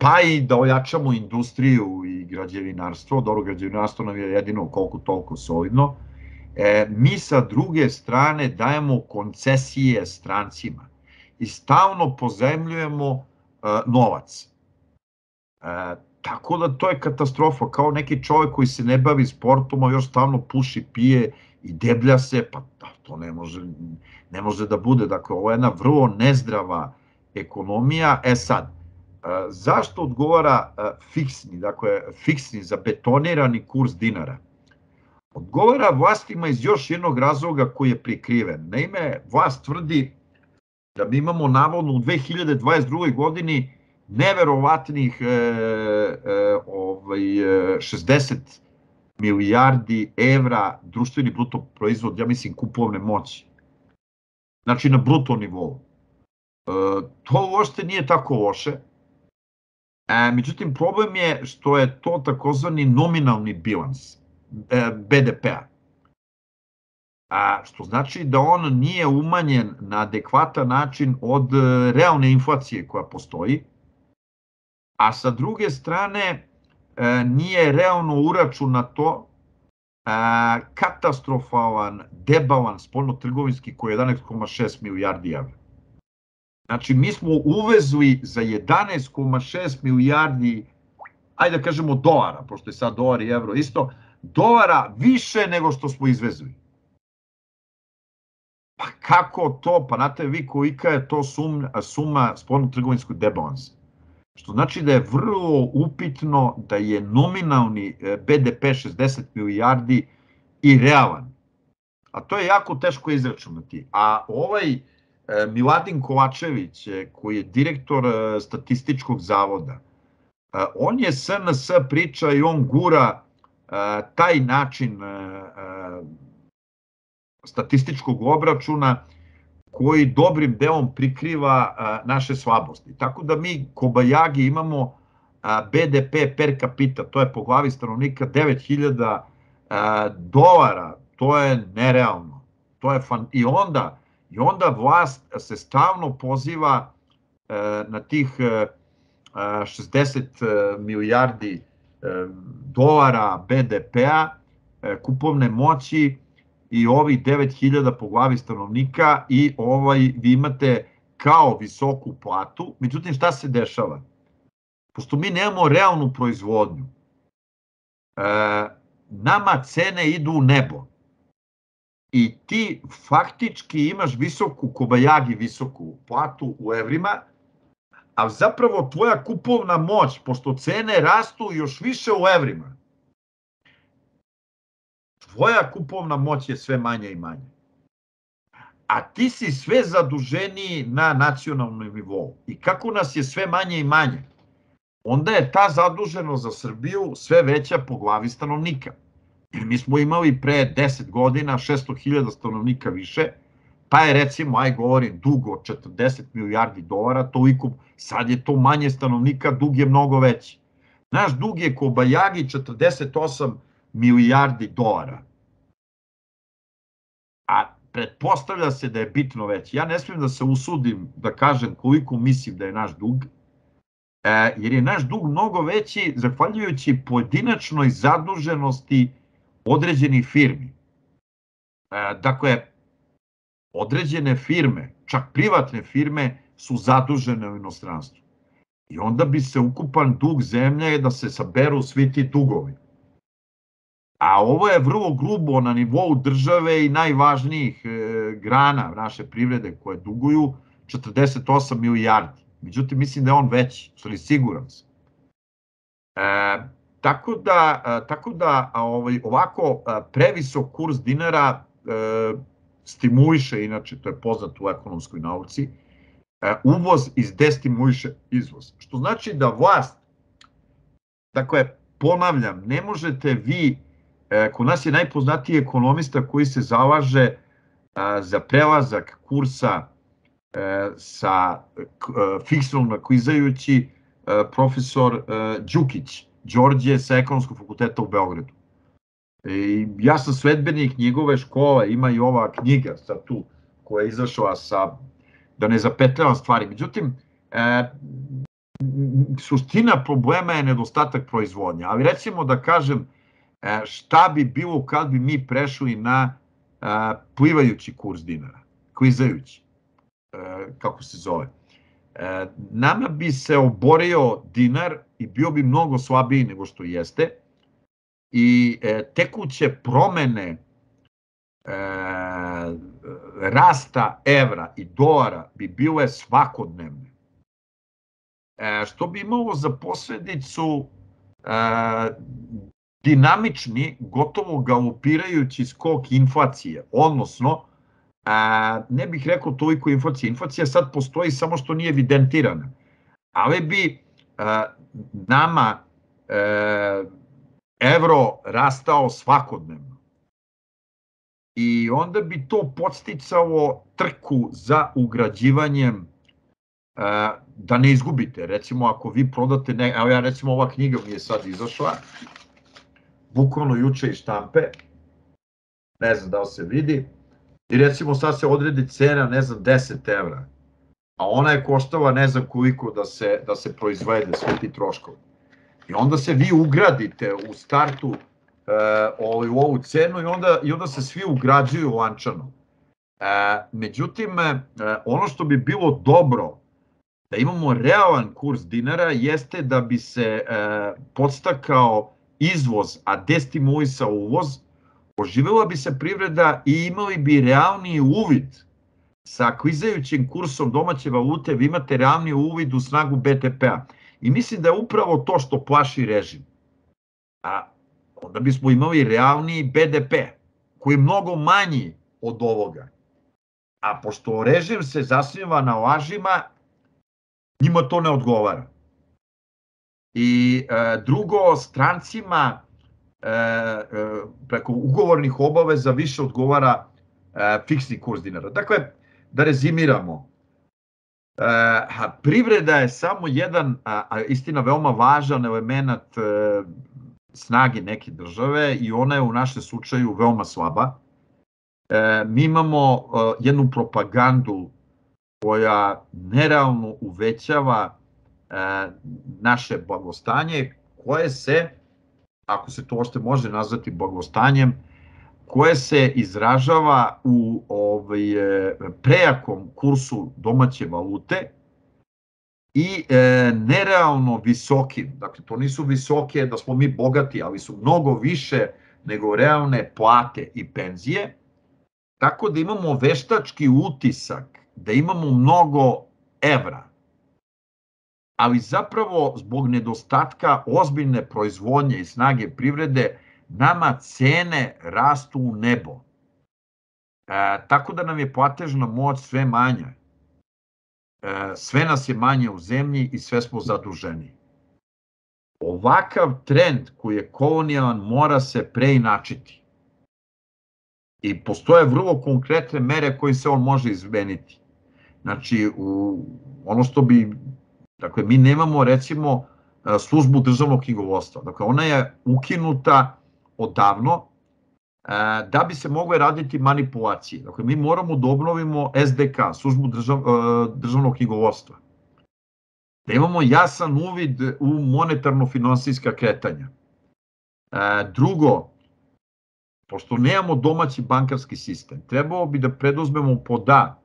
pa i da ojačamo industriju i građevinarstvo, dobro, građevinarstvo nam je jedino koliko toliko solidno, mi sa druge strane dajemo koncesije strancima i stalno pozajmljujemo novac. Tako da to je katastrofa, kao neki čovjek koji se ne bavi sportom, a još stalno puši, pije i deblja se, pa to ne može da bude. Dakle, ovo je jedna vrlo nezdrava ekonomija. Sad, zašto odgovara fiksni, zabetonirani kurs dinara? Odgovara vlastima iz još jednog razloga koji je prikriven. Naime, vlast tvrdi da mi imamo navodno u 2022. godini neverovatnih 60 milijardi evra društveni bruto proizvod, ja mislim, kupovne moći. Znači na bruto nivou. To uopšte nije tako loše. Međutim, problem je što je to takozvani nominalni bilans BDP-a. Što znači da on nije umanjen na adekvatan način od realne inflacije koja postoji, a sa druge strane nije realno uračunato katastrofalan debalans spoljnotrgovinski koji je 11,6 milijardi evra. Znači, mi smo uvezli za 11,6 milijardi, ajde da kažemo dolara, pošto je sad dolar i evro isto, dolara više nego što smo izvezli. Pa kako to? Pa znate vi kolika je to suma spoljnotrgovinskog debalansa. Što znači da je vrlo upitno da je nominalni BDP 60 milijardi i realan. A to je jako teško izračunati. A ovaj Miladin Kovačević, koji je direktor Statističkog zavoda, on je SNS priča i on gura taj način statističkog obračuna koji dobrim delom prikriva naše slabosti. Tako da mi kobajagi imamo BDP per capita, to je po glavi stanovnika 9.000 dolara, to je nerealno. I onda vlast se stalno poziva na tih 60 milijardi dolara BDP-a, kupovne moći, i ovih 9.000 po glavi stanovnika i vi imate kao visoku platu. Međutim, šta se dešava? Pošto mi nemamo realnu proizvodnju, nama cene idu u nebo i ti faktički imaš kobajagi visoku platu u evrima, a zapravo tvoja kupovna moć, pošto cene rastu još više u evrima, tvoja kupovna moć je sve manja i manja. A ti si sve zaduženiji na nacionalnom nivou. I kako nas je sve manje i manje? onda je ta zaduženost za Srbiju sve veća po glavi stanovnika. Jer mi smo imali pre 10 godina 600.000 stanovnika više, pa je recimo, govorim, dug od 40 milijardi dolara, toliko, sad je to manje stanovnika, dug je mnogo veći. Naš dug je ko Bajagi 48 milijardi dolara. A pretpostavlja se da je bitno veći. Ja ne smijem da se usudim da kažem koliko mislim da je naš dug, jer je naš dug mnogo veći zahvaljujući pojedinačnoj zaduženosti određenih firmi. Dakle, određene firme, čak privatne firme, su zadužene u inostranstvu. I onda bi se ukupan dug zemlje da se saberu svi ti dugovi. A ovo je vrlo grubo na nivou države i najvažnijih grana naše privrede koje duguju 48 milijardi. Međutim, mislim da je on veći, stvari siguran sam. Tako da ovako previsok kurs dinara stimuliše, inače to je poznato u ekonomskoj nauci, uvoz i destimuliše izvoz. Što znači da vlast, dakle, ponavljam, ne možete vi, kod nas je najpoznatiji ekonomista koji se zalaže za prelazak kursa sa fiksnog na klizajući profesor Đukić, Đorđe sa Ekonomskog fakulteta u Beogradu. I ja sam sledbenik njegove škole, ima i ova knjiga sad tu koja je izašla sa, da ne zapetljavam stvari. Međutim, suština problema je nedostatak proizvodnja. Ali recimo da kažem šta bi bilo kad bi mi prešli na plivajući kurs dinara, klizajući, kako se zove. Nama bi se oborio dinar i bio bi mnogo slabiji nego što jeste i tekuće promene rasta evra i dolara bi bile svakodnevne, što bi imalo za posledicu dinamični, gotovo galopirajući skok inflacije, odnosno, ne bih rekao toliko inflacije. Inflacija sad postoji, samo što nije evidentirana. Ali bi nama evro rastao svakodnevno. I onda bi to podsticalo trku za ugrađivanjem, da ne izgubite. Recimo, ako vi prodate, evo ja recimo ova knjiga mi je sad izašla, bukvalno juče iz štampe, ne znam da li se vidi, i recimo sad se odredi cena, ne znam, 10 evra, a ona je koštala ne znam koliko da se proizvede, svi ti troškovi. I onda se vi ugradite u startu u ovu cenu i onda se svi ugrađuju lančano. Međutim, ono što bi bilo dobro da imamo realan kurs dinara jeste da bi se podstakao izvoz, a destimulisao uvoz, oživela bi se privreda i imali bi realniji uvid sa klizajućim kursom domaće valute, vi imate realniji uvid u snagu BDP-a. I mislim da je upravo to što plaši režim. A onda bismo imali realniji BDP, koji je mnogo manji od ovoga. A pošto režim se zasniva na lažima, njima to ne odgovara. I drugo, strancima preko ugovornih obaveza više odgovara fiksni kurs dinara. Dakle, da rezimiramo, privreda je samo jedan, istina, veoma važan element snage neke države i ona je u našem slučaju veoma slaba. Mi imamo jednu propagandu koja nerealno uvećava naše blagostanje, koje se, ako se to uopšte može nazvati blagostanjem, koje se izražava u prejakom kursu domaće valute i nerealno visokim. Dakle, to nisu visoke da smo mi bogati, ali su mnogo više nego realne plate i penzije, tako da imamo veštački utisak da imamo mnogo evra, ali zapravo zbog nedostatka ozbiljne proizvodnje i snage privrede nama cene rastu u nebo. Tako da nam je platežna moć sve manja. Sve nas je manje u zemlji i sve smo zaduženi. ovakav trend koji je kolonijalan mora se preinačiti. I postoje vrlo konkretne mere koje se on može izmeniti. Znači, ono što bi, dakle, mi nemamo, recimo, službu državnog knjigovodstva. Dakle, ona je ukinuta odavno da bi se mogle raditi manipulacije. Dakle, mi moramo da obnovimo SDK, službu državnog knjigovodstva. Da imamo jasan uvid u monetarno-finansijska kretanja. Drugo, pošto nemamo domaći bankarski sistem, trebalo bi da preduzmemo pod A,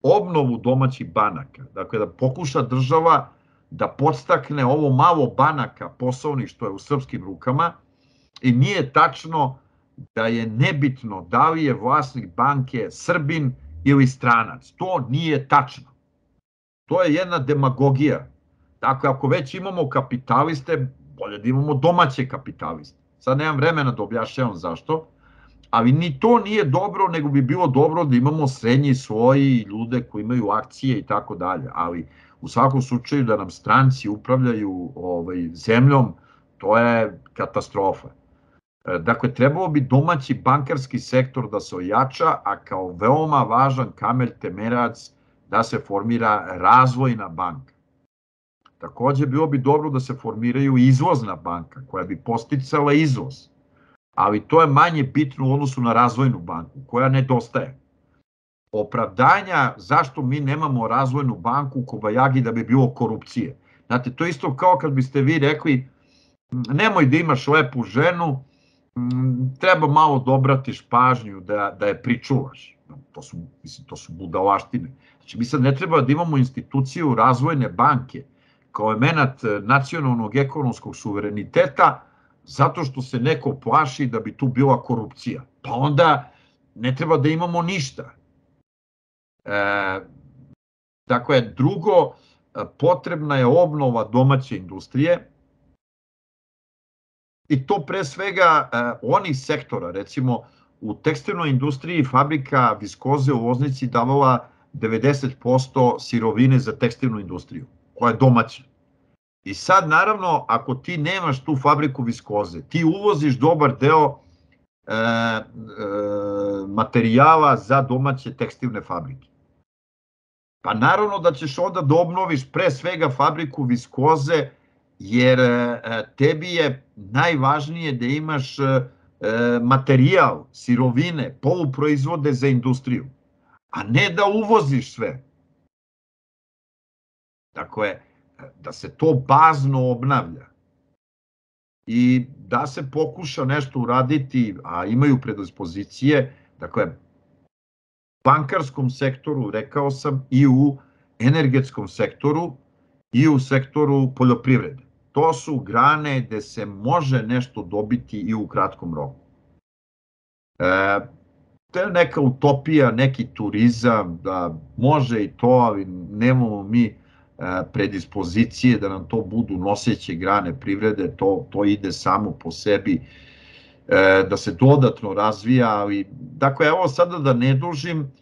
obnovu domaćih banaka. Dakle, da pokuša država da podstakne ovo malo banaka poslovnih što je u srpskim rukama i nije tačno da je nebitno da li je vlasnik banke Srbin ili stranac. To nije tačno. To je jedna demagogija. Dakle, ako već imamo kapitaliste, bolje da imamo domaće kapitaliste. Sad nemam vremena da objašnjavam zašto, ali ni to nije dobro, nego bi bilo dobro da imamo srednji sloj i ljude koji imaju akcije i tako dalje. Ali u svakom slučaju da nam stranci upravljaju zemljom, to je katastrofa. Dakle, trebalo bi domaći bankarski sektor da se ojača, a kao veoma važan kamen temeljac da se formira razvojna banka. Takođe, bilo bi dobro da se formiraju izvozna banka koja bi podsticala izvoz, ali to je manje bitno u odnosu na razvojnu banku koja nedostaje. Opravdanja zašto mi nemamo razvojnu banku u Kobajagi da bi bilo korupcije. Znate, to je isto kao kad biste vi rekli nemoj da imaš lepu ženu, treba malo da obratiš pažnju da je pričuvaš. To su budalaštine. Znači, mi sad ne treba da imamo instituciju razvojne banke kao element nacionalnog ekonomskog suvereniteta zato što se neko plaši da bi tu bila korupcija. Pa onda ne treba da imamo ništa. Dakle, drugo, potrebna je obnova domaće industrije i to pre svega onih sektora, recimo u tekstilnoj industriji fabrika viskoze u Loznici davala 90% sirovine za tekstilnu industriju, koja je domaća. I sad, naravno, ako ti nemaš tu fabriku viskoze, ti uvoziš dobar deo materijala za domaće tekstilne fabrike. Pa naravno da ćeš onda da obnoviš pre svega fabriku viskoze, jer tebi je najvažnije da imaš materijal, sirovine, poluproizvode za industriju, a ne da uvoziš sve. Dakle, da se to bazno obnavlja i da se pokuša nešto uraditi, a imaju predispozicije, dakle, bankarskom sektoru, rekao sam, i u energetskom sektoru i u sektoru poljoprivrede. To su grane gde se može nešto dobiti i u kratkom roku. To je neka utopija, neki turizam, da može i to, ali nemamo mi predispozicije da nam to budu noseće grane privrede, to ide samo po sebi, da se dodatno razvija, ali, dakle, evo sada da ne dužim,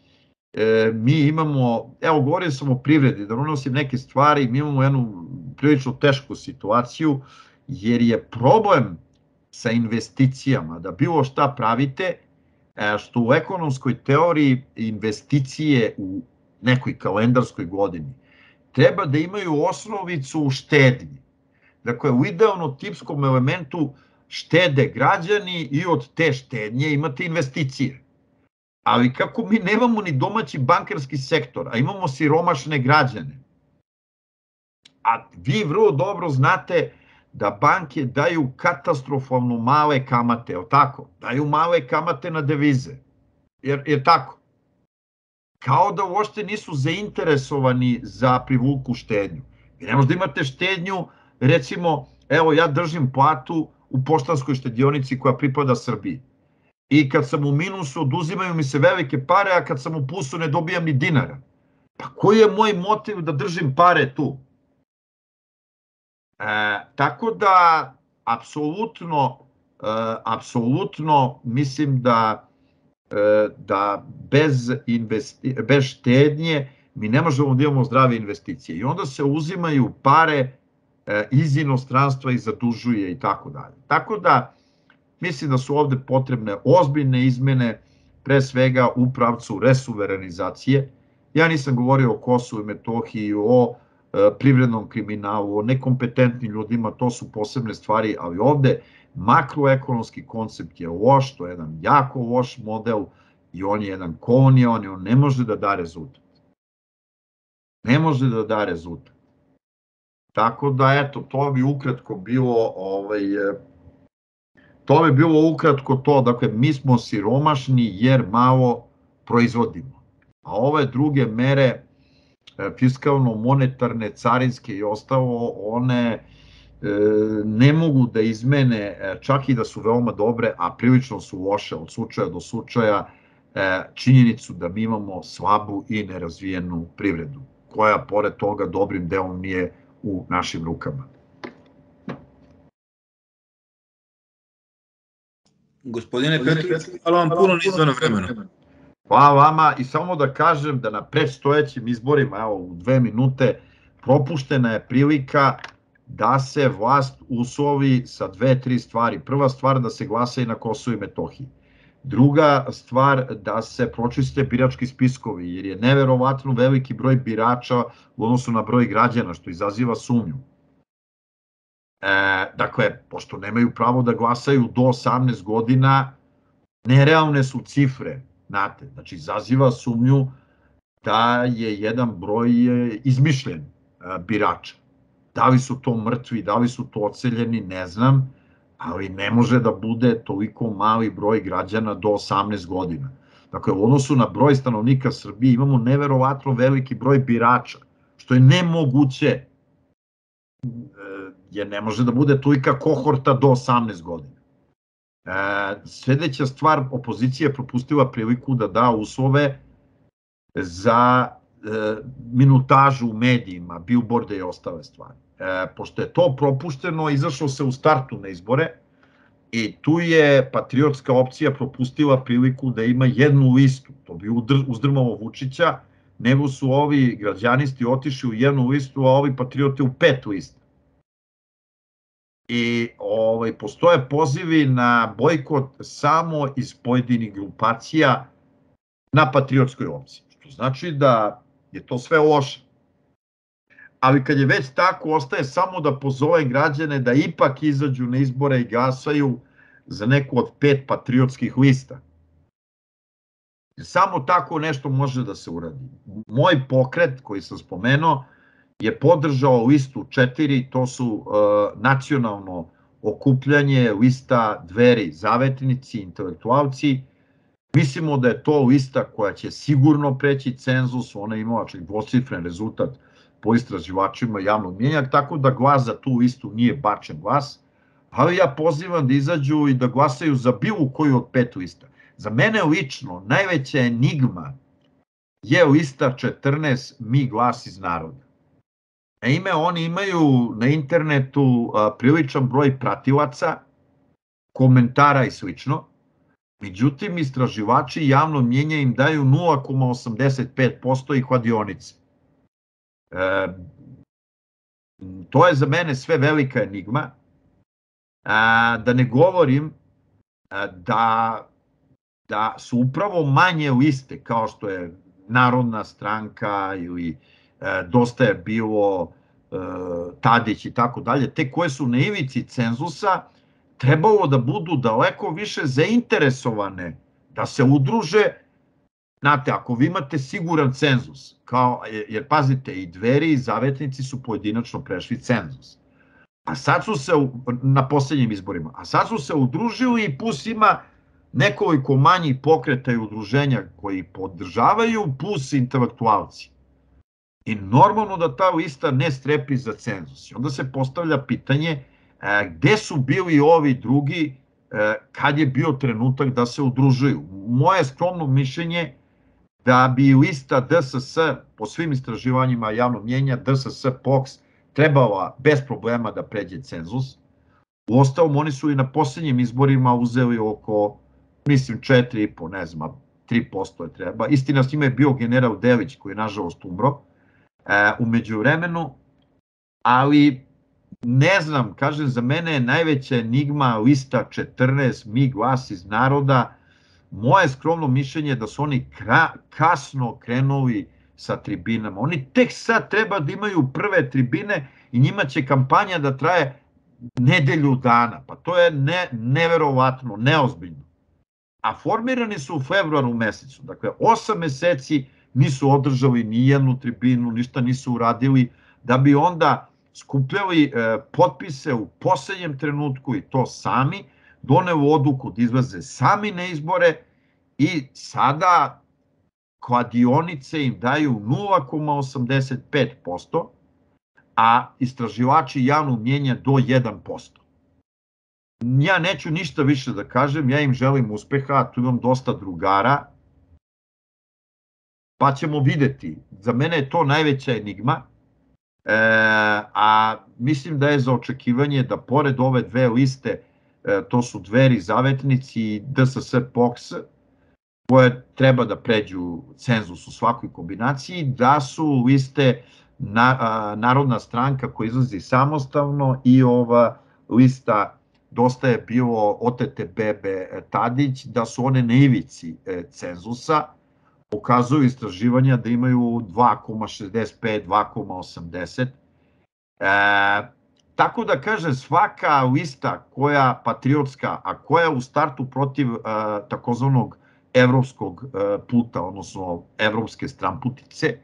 mi imamo, evo govorio sam o privredi, da unosim neke stvari, mi imamo jednu prilično tešku situaciju, jer je problem sa investicijama, da bilo šta pravite, što u ekonomskoj teoriji investicije u nekoj kalendarskoj godini treba da imaju osnovicu u štednji. Dakle, u idealno tipskom elementu štede građani i od te štednje imate investicije. Ali kako mi nemamo ni domaći bankarski sektor, a imamo siromašne građane, a vi vrlo dobro znate da banke daju katastrofalno male kamate, je li tako? Daju male kamate na devize, jer tako? Kao da uopšte nisu zainteresovani za privuku štednju. Vi ne možda imate štednju, recimo, evo ja držim platu u poštanskoj štedionici koja pripada Srbiji. I kad sam u minusu oduzimaju mi se velike pare, a kad sam u plusu ne dobijam ni dinara. Pa koji je moj motiv da držim pare tu? Tako da, apsolutno mislim da bez štednje mi ne možemo da imamo zdrave investicije. I onda se uzimaju pare iz inostranstva i zadužuje i tako dalje. Tako da mislim da su ovde potrebne ozbiljne izmene, pre svega u pravcu resuverenizacije. Ja nisam govorio o Kosovu i Metohiji, o privrednom kriminalu, o nekompetentnim ljudima, to su posebne stvari, ali ovde makroekonomski koncept je loš, to je jedan jako loš model i on je jedan kolonijalan i on ne može da da rezultat. Ne može da da rezultat. Tako da, eto, to bi ukratko bilo, ukratko to, dakle, mi smo siromašni jer malo proizvodimo, a ove druge mere, fiskalno-monetarne, carinske i ostalo, one ne mogu da izmene, čak i da su veoma dobre, a prilično su loše od slučaja do slučaja, činjenicu da mi imamo slabu i nerazvijenu privredu, koja pored toga dobrim delom nije u našim rukama. Gospodine Petrović, hvala vam puno na izdvojenom vremenu. Hvala vama i samo da kažem da na predstojećim izborima, evo u 2 minute, propuštena je prilika da se vlast uslovi sa 2-3 stvari. Prva stvar da se glasa i na Kosovu i Metohiji. Druga stvar da se pročiste birački spiskovi, jer je neverovatno veliki broj birača u odnosu na broj građana, što izaziva sumnju. Dakle, pošto nemaju pravo da glasaju do 18 godina, nerealne su cifre, znate, znači izaziva sumnju da je jedan broj izmišljen birača. Da li su to mrtvi, da li su to odseljeni, ne znam, ali ne može da bude toliko mali broj građana do 18 godina. Dakle, u odnosu na broj stanovnika Srbije imamo neverovatno veliki broj birača, što je nemoguće, jer ne može da bude tolika kohorta do 18 godina. Sledeća stvar, opozicija je propustila priliku da da uslove za minutažu u medijima, bilborde i ostale stvari. Pošto je to propušteno, izašlo se u startu na izbore i tu je patriotska opcija propustila priliku da ima jednu listu. To bi uzdrmalo Vučića, nego su ovi građanisti otišli u jednu listu, a ovi patriote u 5 lista. I postoje pozivi na bojkot samo iz pojedinih grupacija na patriotskoj opciji, što znači da je to sve loše. Ali kad je već tako, ostaje samo da pozove građane da ipak izađu na izbore i glasaju za neku od 5 patriotskih lista. Samo tako nešto može da se uradi. Moj pokret koji sam spomenuo je podržao listu 4, to su nacionalno okupljanje, lista Dveri, zavetnici, intelektualci. Mislimo da je to lista koja će sigurno preći cenzus, ona je imala čak dvocifren rezultat po istraživačima javnog mnjenja, tako da glas za tu listu nije bačen glas, ali ja pozivam da izađu i da glasaju za bilo koju od 5 lista. Za mene lično najveća enigma je lista 14 Mi glas iz naroda. Naime, oni imaju na internetu priličan broj pratilaca, komentara i slično, međutim istraživači javno mnjenja im daju 0,85% i kladionice. To je za mene sve velika enigma, da ne govorim da su upravo manje liste kao što je Narodna stranka ili Dosta je bilo, Tadić i tako dalje, te koje su na ivici cenzusa, trebalo da budu daleko više zainteresovane da se udruže. Znate, ako vi imate siguran cenzus, jer pazite, i Dveri i Zavetnici su pojedinačno prešli cenzus, a sad su se, na poslednjim izborima, a sad su se udružili i plus ima nekoliko manjih pokreta i udruženja koji podržavaju, plus intelektualci. I normalno da ta lista ne strepi za cenzus. I onda se postavlja pitanje gde su bili ovi drugi kad je bio trenutak da se udružuju. Moje skromno mišljenje da bi lista DSS, po svim istraživanjima javnog mnjenja, DSS POKS, trebala bez problema da pređe cenzus. Uostalom, oni su i na poslednjim izborima uzeli oko, mislim, 4,5, ne znam, 3% je treba. Istina, s njima je bio general Delić, koji je nažalost umro u međuvremenu, ali Ne znam, kažem, za mene je najveća enigma lista 14, Mi glas iz naroda. Moje skromno mišljenje je da su oni kasno krenuli sa tribinama. Oni tek sad treba da imaju prve tribine i njima će kampanja da traje nedelju dana. Pa to je neverovatno, neozbiljno. A formirani su u februaru mesecu. Dakle, 8 meseci nisu održali ni jednu tribinu, ništa nisu uradili, da bi onda skupljali potpise u poslednjem trenutku i to sami, doneli odluku da izlaze sami na izbore i sada kladionice im daju 0,85%, a istraživači javnog mnjenja do 1%. Ja neću ništa više da kažem, ja im želim uspeha, tu imam dosta drugara, pa ćemo videti. Za mene je to najveća enigma, a mislim da je za očekivanje da pored ove dve liste, to su Dveri, Zavetnici i DSS POKS, koje treba da pređu cenzus u svakoj kombinaciji, da su liste Narodna stranka koja izlazi samostalno i ova lista Dosta je bilo otete bebe Tadić, da su one na ivici cenzusa, pokazuju istraživanja da imaju 2,65, 2,80. Tako da kaže, svaka lista koja patriotska, a koja je u startu protiv takozvanog evropskog puta, odnosno evropske stramputice,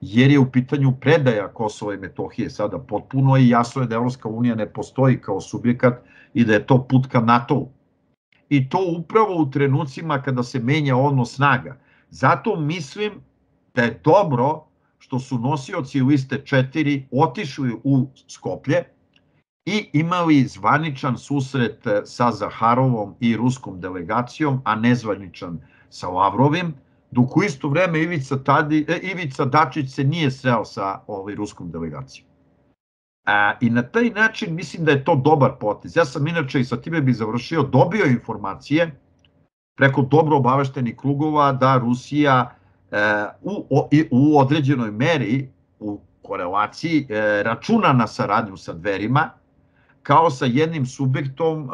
jer je u pitanju predaja Kosova i Metohije sada potpuno i jasno je da Evropska unija ne postoji kao subjekat i da je to put ka NATO-u. I to upravo u trenucima kada se menja odnos snaga. Zato mislim da je dobro što su nosioci liste 4 otišli u Skoplje i imali zvaničan susret sa Zaharovom i ruskom delegacijom, a nezvaničan sa Lavrovim, dok u isto vreme Ivica Dačić se nije sreo sa ruskom delegacijom. I na taj način mislim da je to dobar potez. Ja sam inače, i sa time bih završio, dobio informacije preko dobro obaveštenih krugova da Rusija u određenoj meri, u korelaciji, računa na saradnju sa Dverima, kao sa jednim subjektom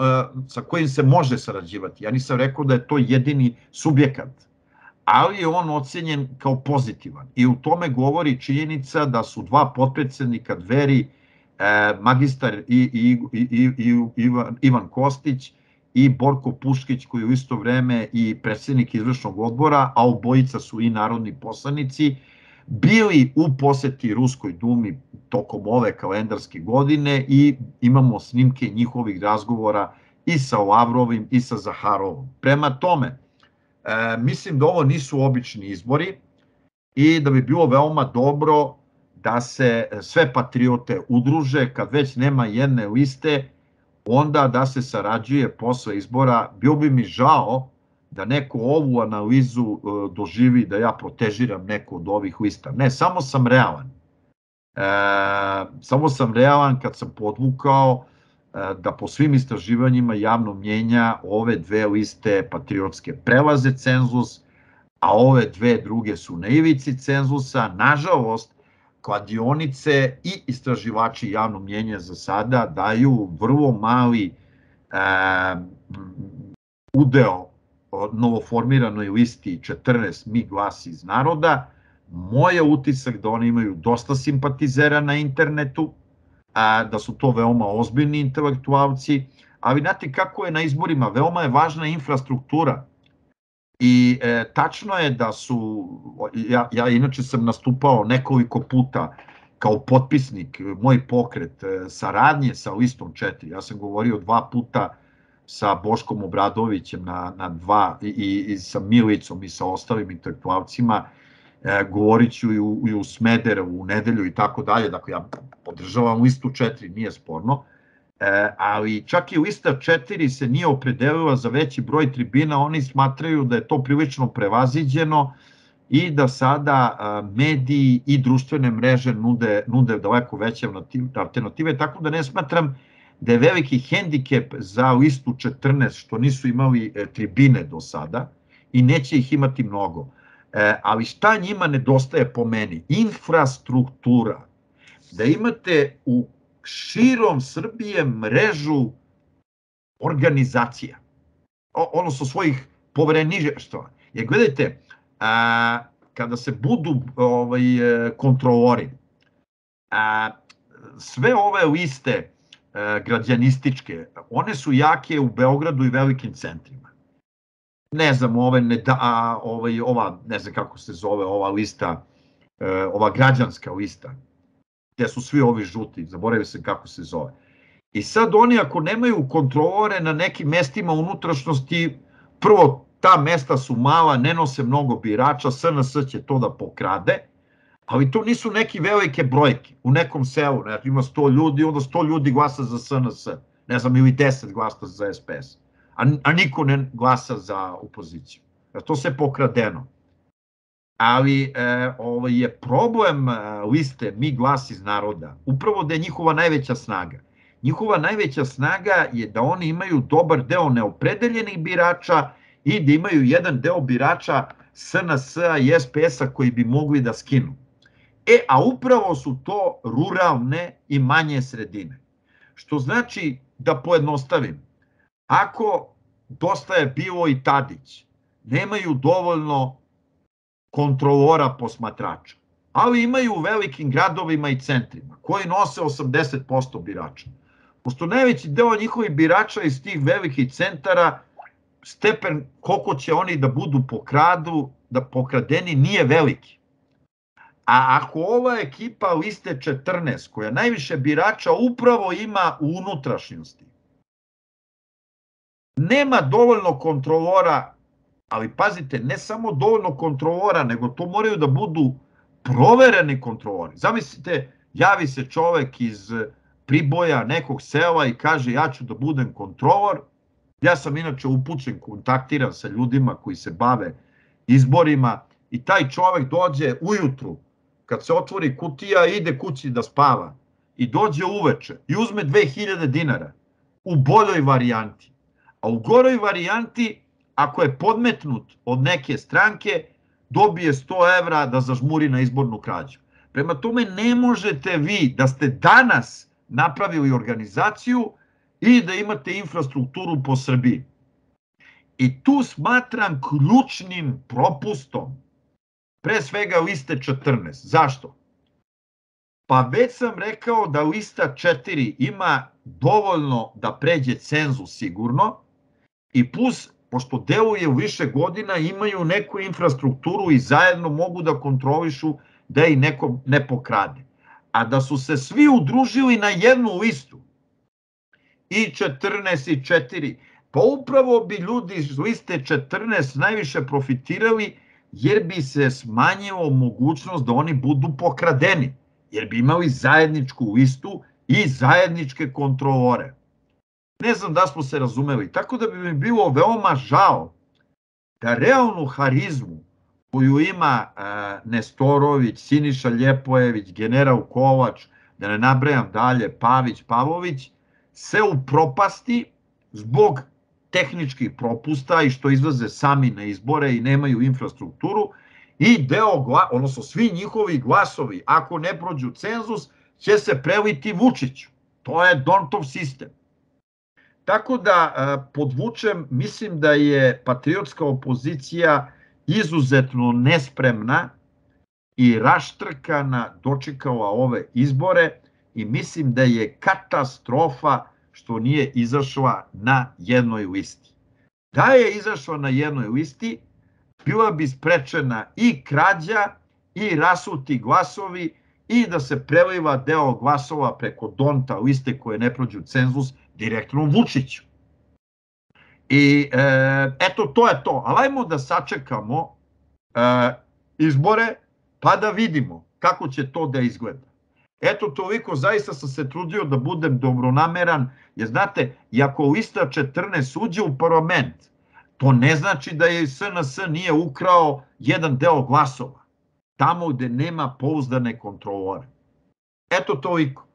sa kojim se može sarađivati. Ja nisam rekao da je to jedini subjekat, ali je on ocenjen kao pozitivan. I u tome govori činjenica da su dva potpredsednika Dveri, magistar Ivan Kostić i Borko Puškić, koji je u isto vreme i predsednik izvršnog odbora, a obojica su i narodni poslanici, bili u poseti Ruskoj dumi tokom ove kalendarske godine i imamo snimke njihovih razgovora i sa Lavrovim i sa Zaharovom. Prema tome, mislim da ovo nisu obični izbori i da bi bilo veoma dobro da se sve patriote udruže, kad već nema jedne liste, onda da se sarađuje posle izbora. Bio bi mi žao da neko ovu analizu doživi da ja protežiram neku od ovih lista. Ne, samo sam realan. Samo sam realan kad sam podvukao da po svim istraživanjima javnog mnjenja ove dve liste patriotske prelaze cenzus, a ove dve druge su na ivici cenzusa. Nažalost, kladionice i istraživači javnog mnjenja za sada daju vrlo mali udeo novoformiranoj listi 14 Mi glas iz naroda. Moj je utisak da oni imaju dosta simpatizera na internetu, da su to veoma ozbiljni intelektualci, ali znate kako je na izborima, veoma je važna infrastruktura. I tačno je da su, ja inače sam nastupao nekoliko puta kao potpisnik, moj pokret saradnje sa listom 4. Ja sam govorio 2 puta sa Boškom Obradovićem na 2 i sa Milicom i sa ostalim intelektualcima, govorit ću i u Smederevu u nedelju i tako dalje. Dakle, ja podržavam listu 4, nije sporno. Ali čak i lista 4 se nije opredelila za veći broj tribina, oni smatraju da je to prilično prevaziđeno i da sada mediji i društvene mreže nude daleko veće alternative, tako da ne smatram da je veliki hendikep za listu 14 što nisu imali tribine do sada i neće ih imati mnogo. Ali šta njima nedostaje po meni? Infrastruktura. Da imate u širom Srbije mrežu organizacija, odnosno svojih povereništva. Jer gledajte, kada se budu kontrolori, sve ove liste građanističke, one su jake u Beogradu i velikim centrima. Ne znam, ne znam kako se zove ova lista, ova građanska lista, gde su svi ovi žuti, zaboravio sam kako se zove. I sad oni ako nemaju kontrolore na nekim mestima unutrašnjosti, prvo ta mesta su mala, ne nose mnogo birača, SNS će to da pokrade, ali to nisu neke velike brojke. U nekom selu, ima 100 ljudi, onda 100 ljudi glasa za SNS, ne znam, ili 10 glasa za SPS, a niko ne glasa za opoziciju. To se pokradeno. Ali je problem liste Mi glas iz naroda, upravo da je njihova najveća snaga. Njihova najveća snaga je da oni imaju dobar deo neopredeljenih birača i da imaju jedan deo birača SNS-a i SPS-a koji bi mogli da skinu. A upravo su to ruralne i manje sredine. Što znači, da pojednostavim, ako Dosta je bilo i Tadić, nemaju dovoljno kontrolora posmatrača, ali imaju u velikim gradovima i centrima, koji nose 80% birača. Pošto najveći deo njihovih birača iz tih velikih centara, stepen koliko će oni da budu pokradeni nije veliki. A ako ova ekipa liste 14, koja najviše birača upravo ima u unutrašnjosti, nema dovoljno kontrolora, ali pazite, ne samo dovoljno kontrolora, nego to moraju da budu provereni kontrolori. Zamislite, javi se čovek iz Priboja, nekog sela i kaže ja ću da budem kontrolor. Ja sam inače upućen, kontaktiran sa ljudima koji se bave izborima i taj čovek dođe ujutru, kad se otvori kutija, ide kući da spava i dođe uveče i uzme 2000 dinara u boljoj varijanti. A u goroj varijanti, ako je podmetnut od neke stranke, dobije 100 evra da zažmuri na izbornu krađu. Prema tome ne možete vi da ste danas napravili organizaciju i da imate infrastrukturu po Srbiji. I tu smatram ključnim propustom, pre svega liste 14. Zašto? Pa već sam rekao da lista 4 ima dovoljno da pređe cenzus sigurno i plus, pošto deluje u više godina, imaju neku infrastrukturu i zajedno mogu da kontrolišu da ih neko ne pokrade. A da su se svi udružili na jednu listu, i 14 i 4, pa upravo bi ljudi iz liste 14 najviše profitirali, jer bi se smanjila mogućnost da oni budu pokradeni, jer bi imali zajedničku listu i zajedničke kontrolore. Ne znam da smo se razumeli, tako da bi mi bilo veoma žao da realnu harizmu koju ima Nestorović, Siniša Ljepojević, general Kovač, da ne nabrajam dalje, Pavić, Pavlović, se upropasti zbog tehničkih propusta i što izlaze sami na izbore i nemaju infrastrukturu i odnosno svi njihovi glasovi, ako ne prođu cenzus, će se preliti Vučiću. To je Dontov sistem. Tako da podvučem, mislim da je patriotska opozicija izuzetno nespremna i raštrkana dočekala ove izbore i mislim da je katastrofa što nije izašla na jednoj listi. Da je izašla na jednoj listi, bila bi sprečena i krađa i rasuti glasovi i da se preliva deo glasova preko Donta liste koje ne prođu cenzus direktno Vučiću. I eto, to je to. Ali ajmo da sačekamo izbore pa da vidimo kako će to da izgleda. Eto, toliko, zaista sam se trudio da budem dobronameran, jer znate, i ako lista 14 uđe u parlament, to ne znači da je SNS nije ukrao jedan deo glasova, tamo gde nema pouzdane kontrolore. Eto, toliko.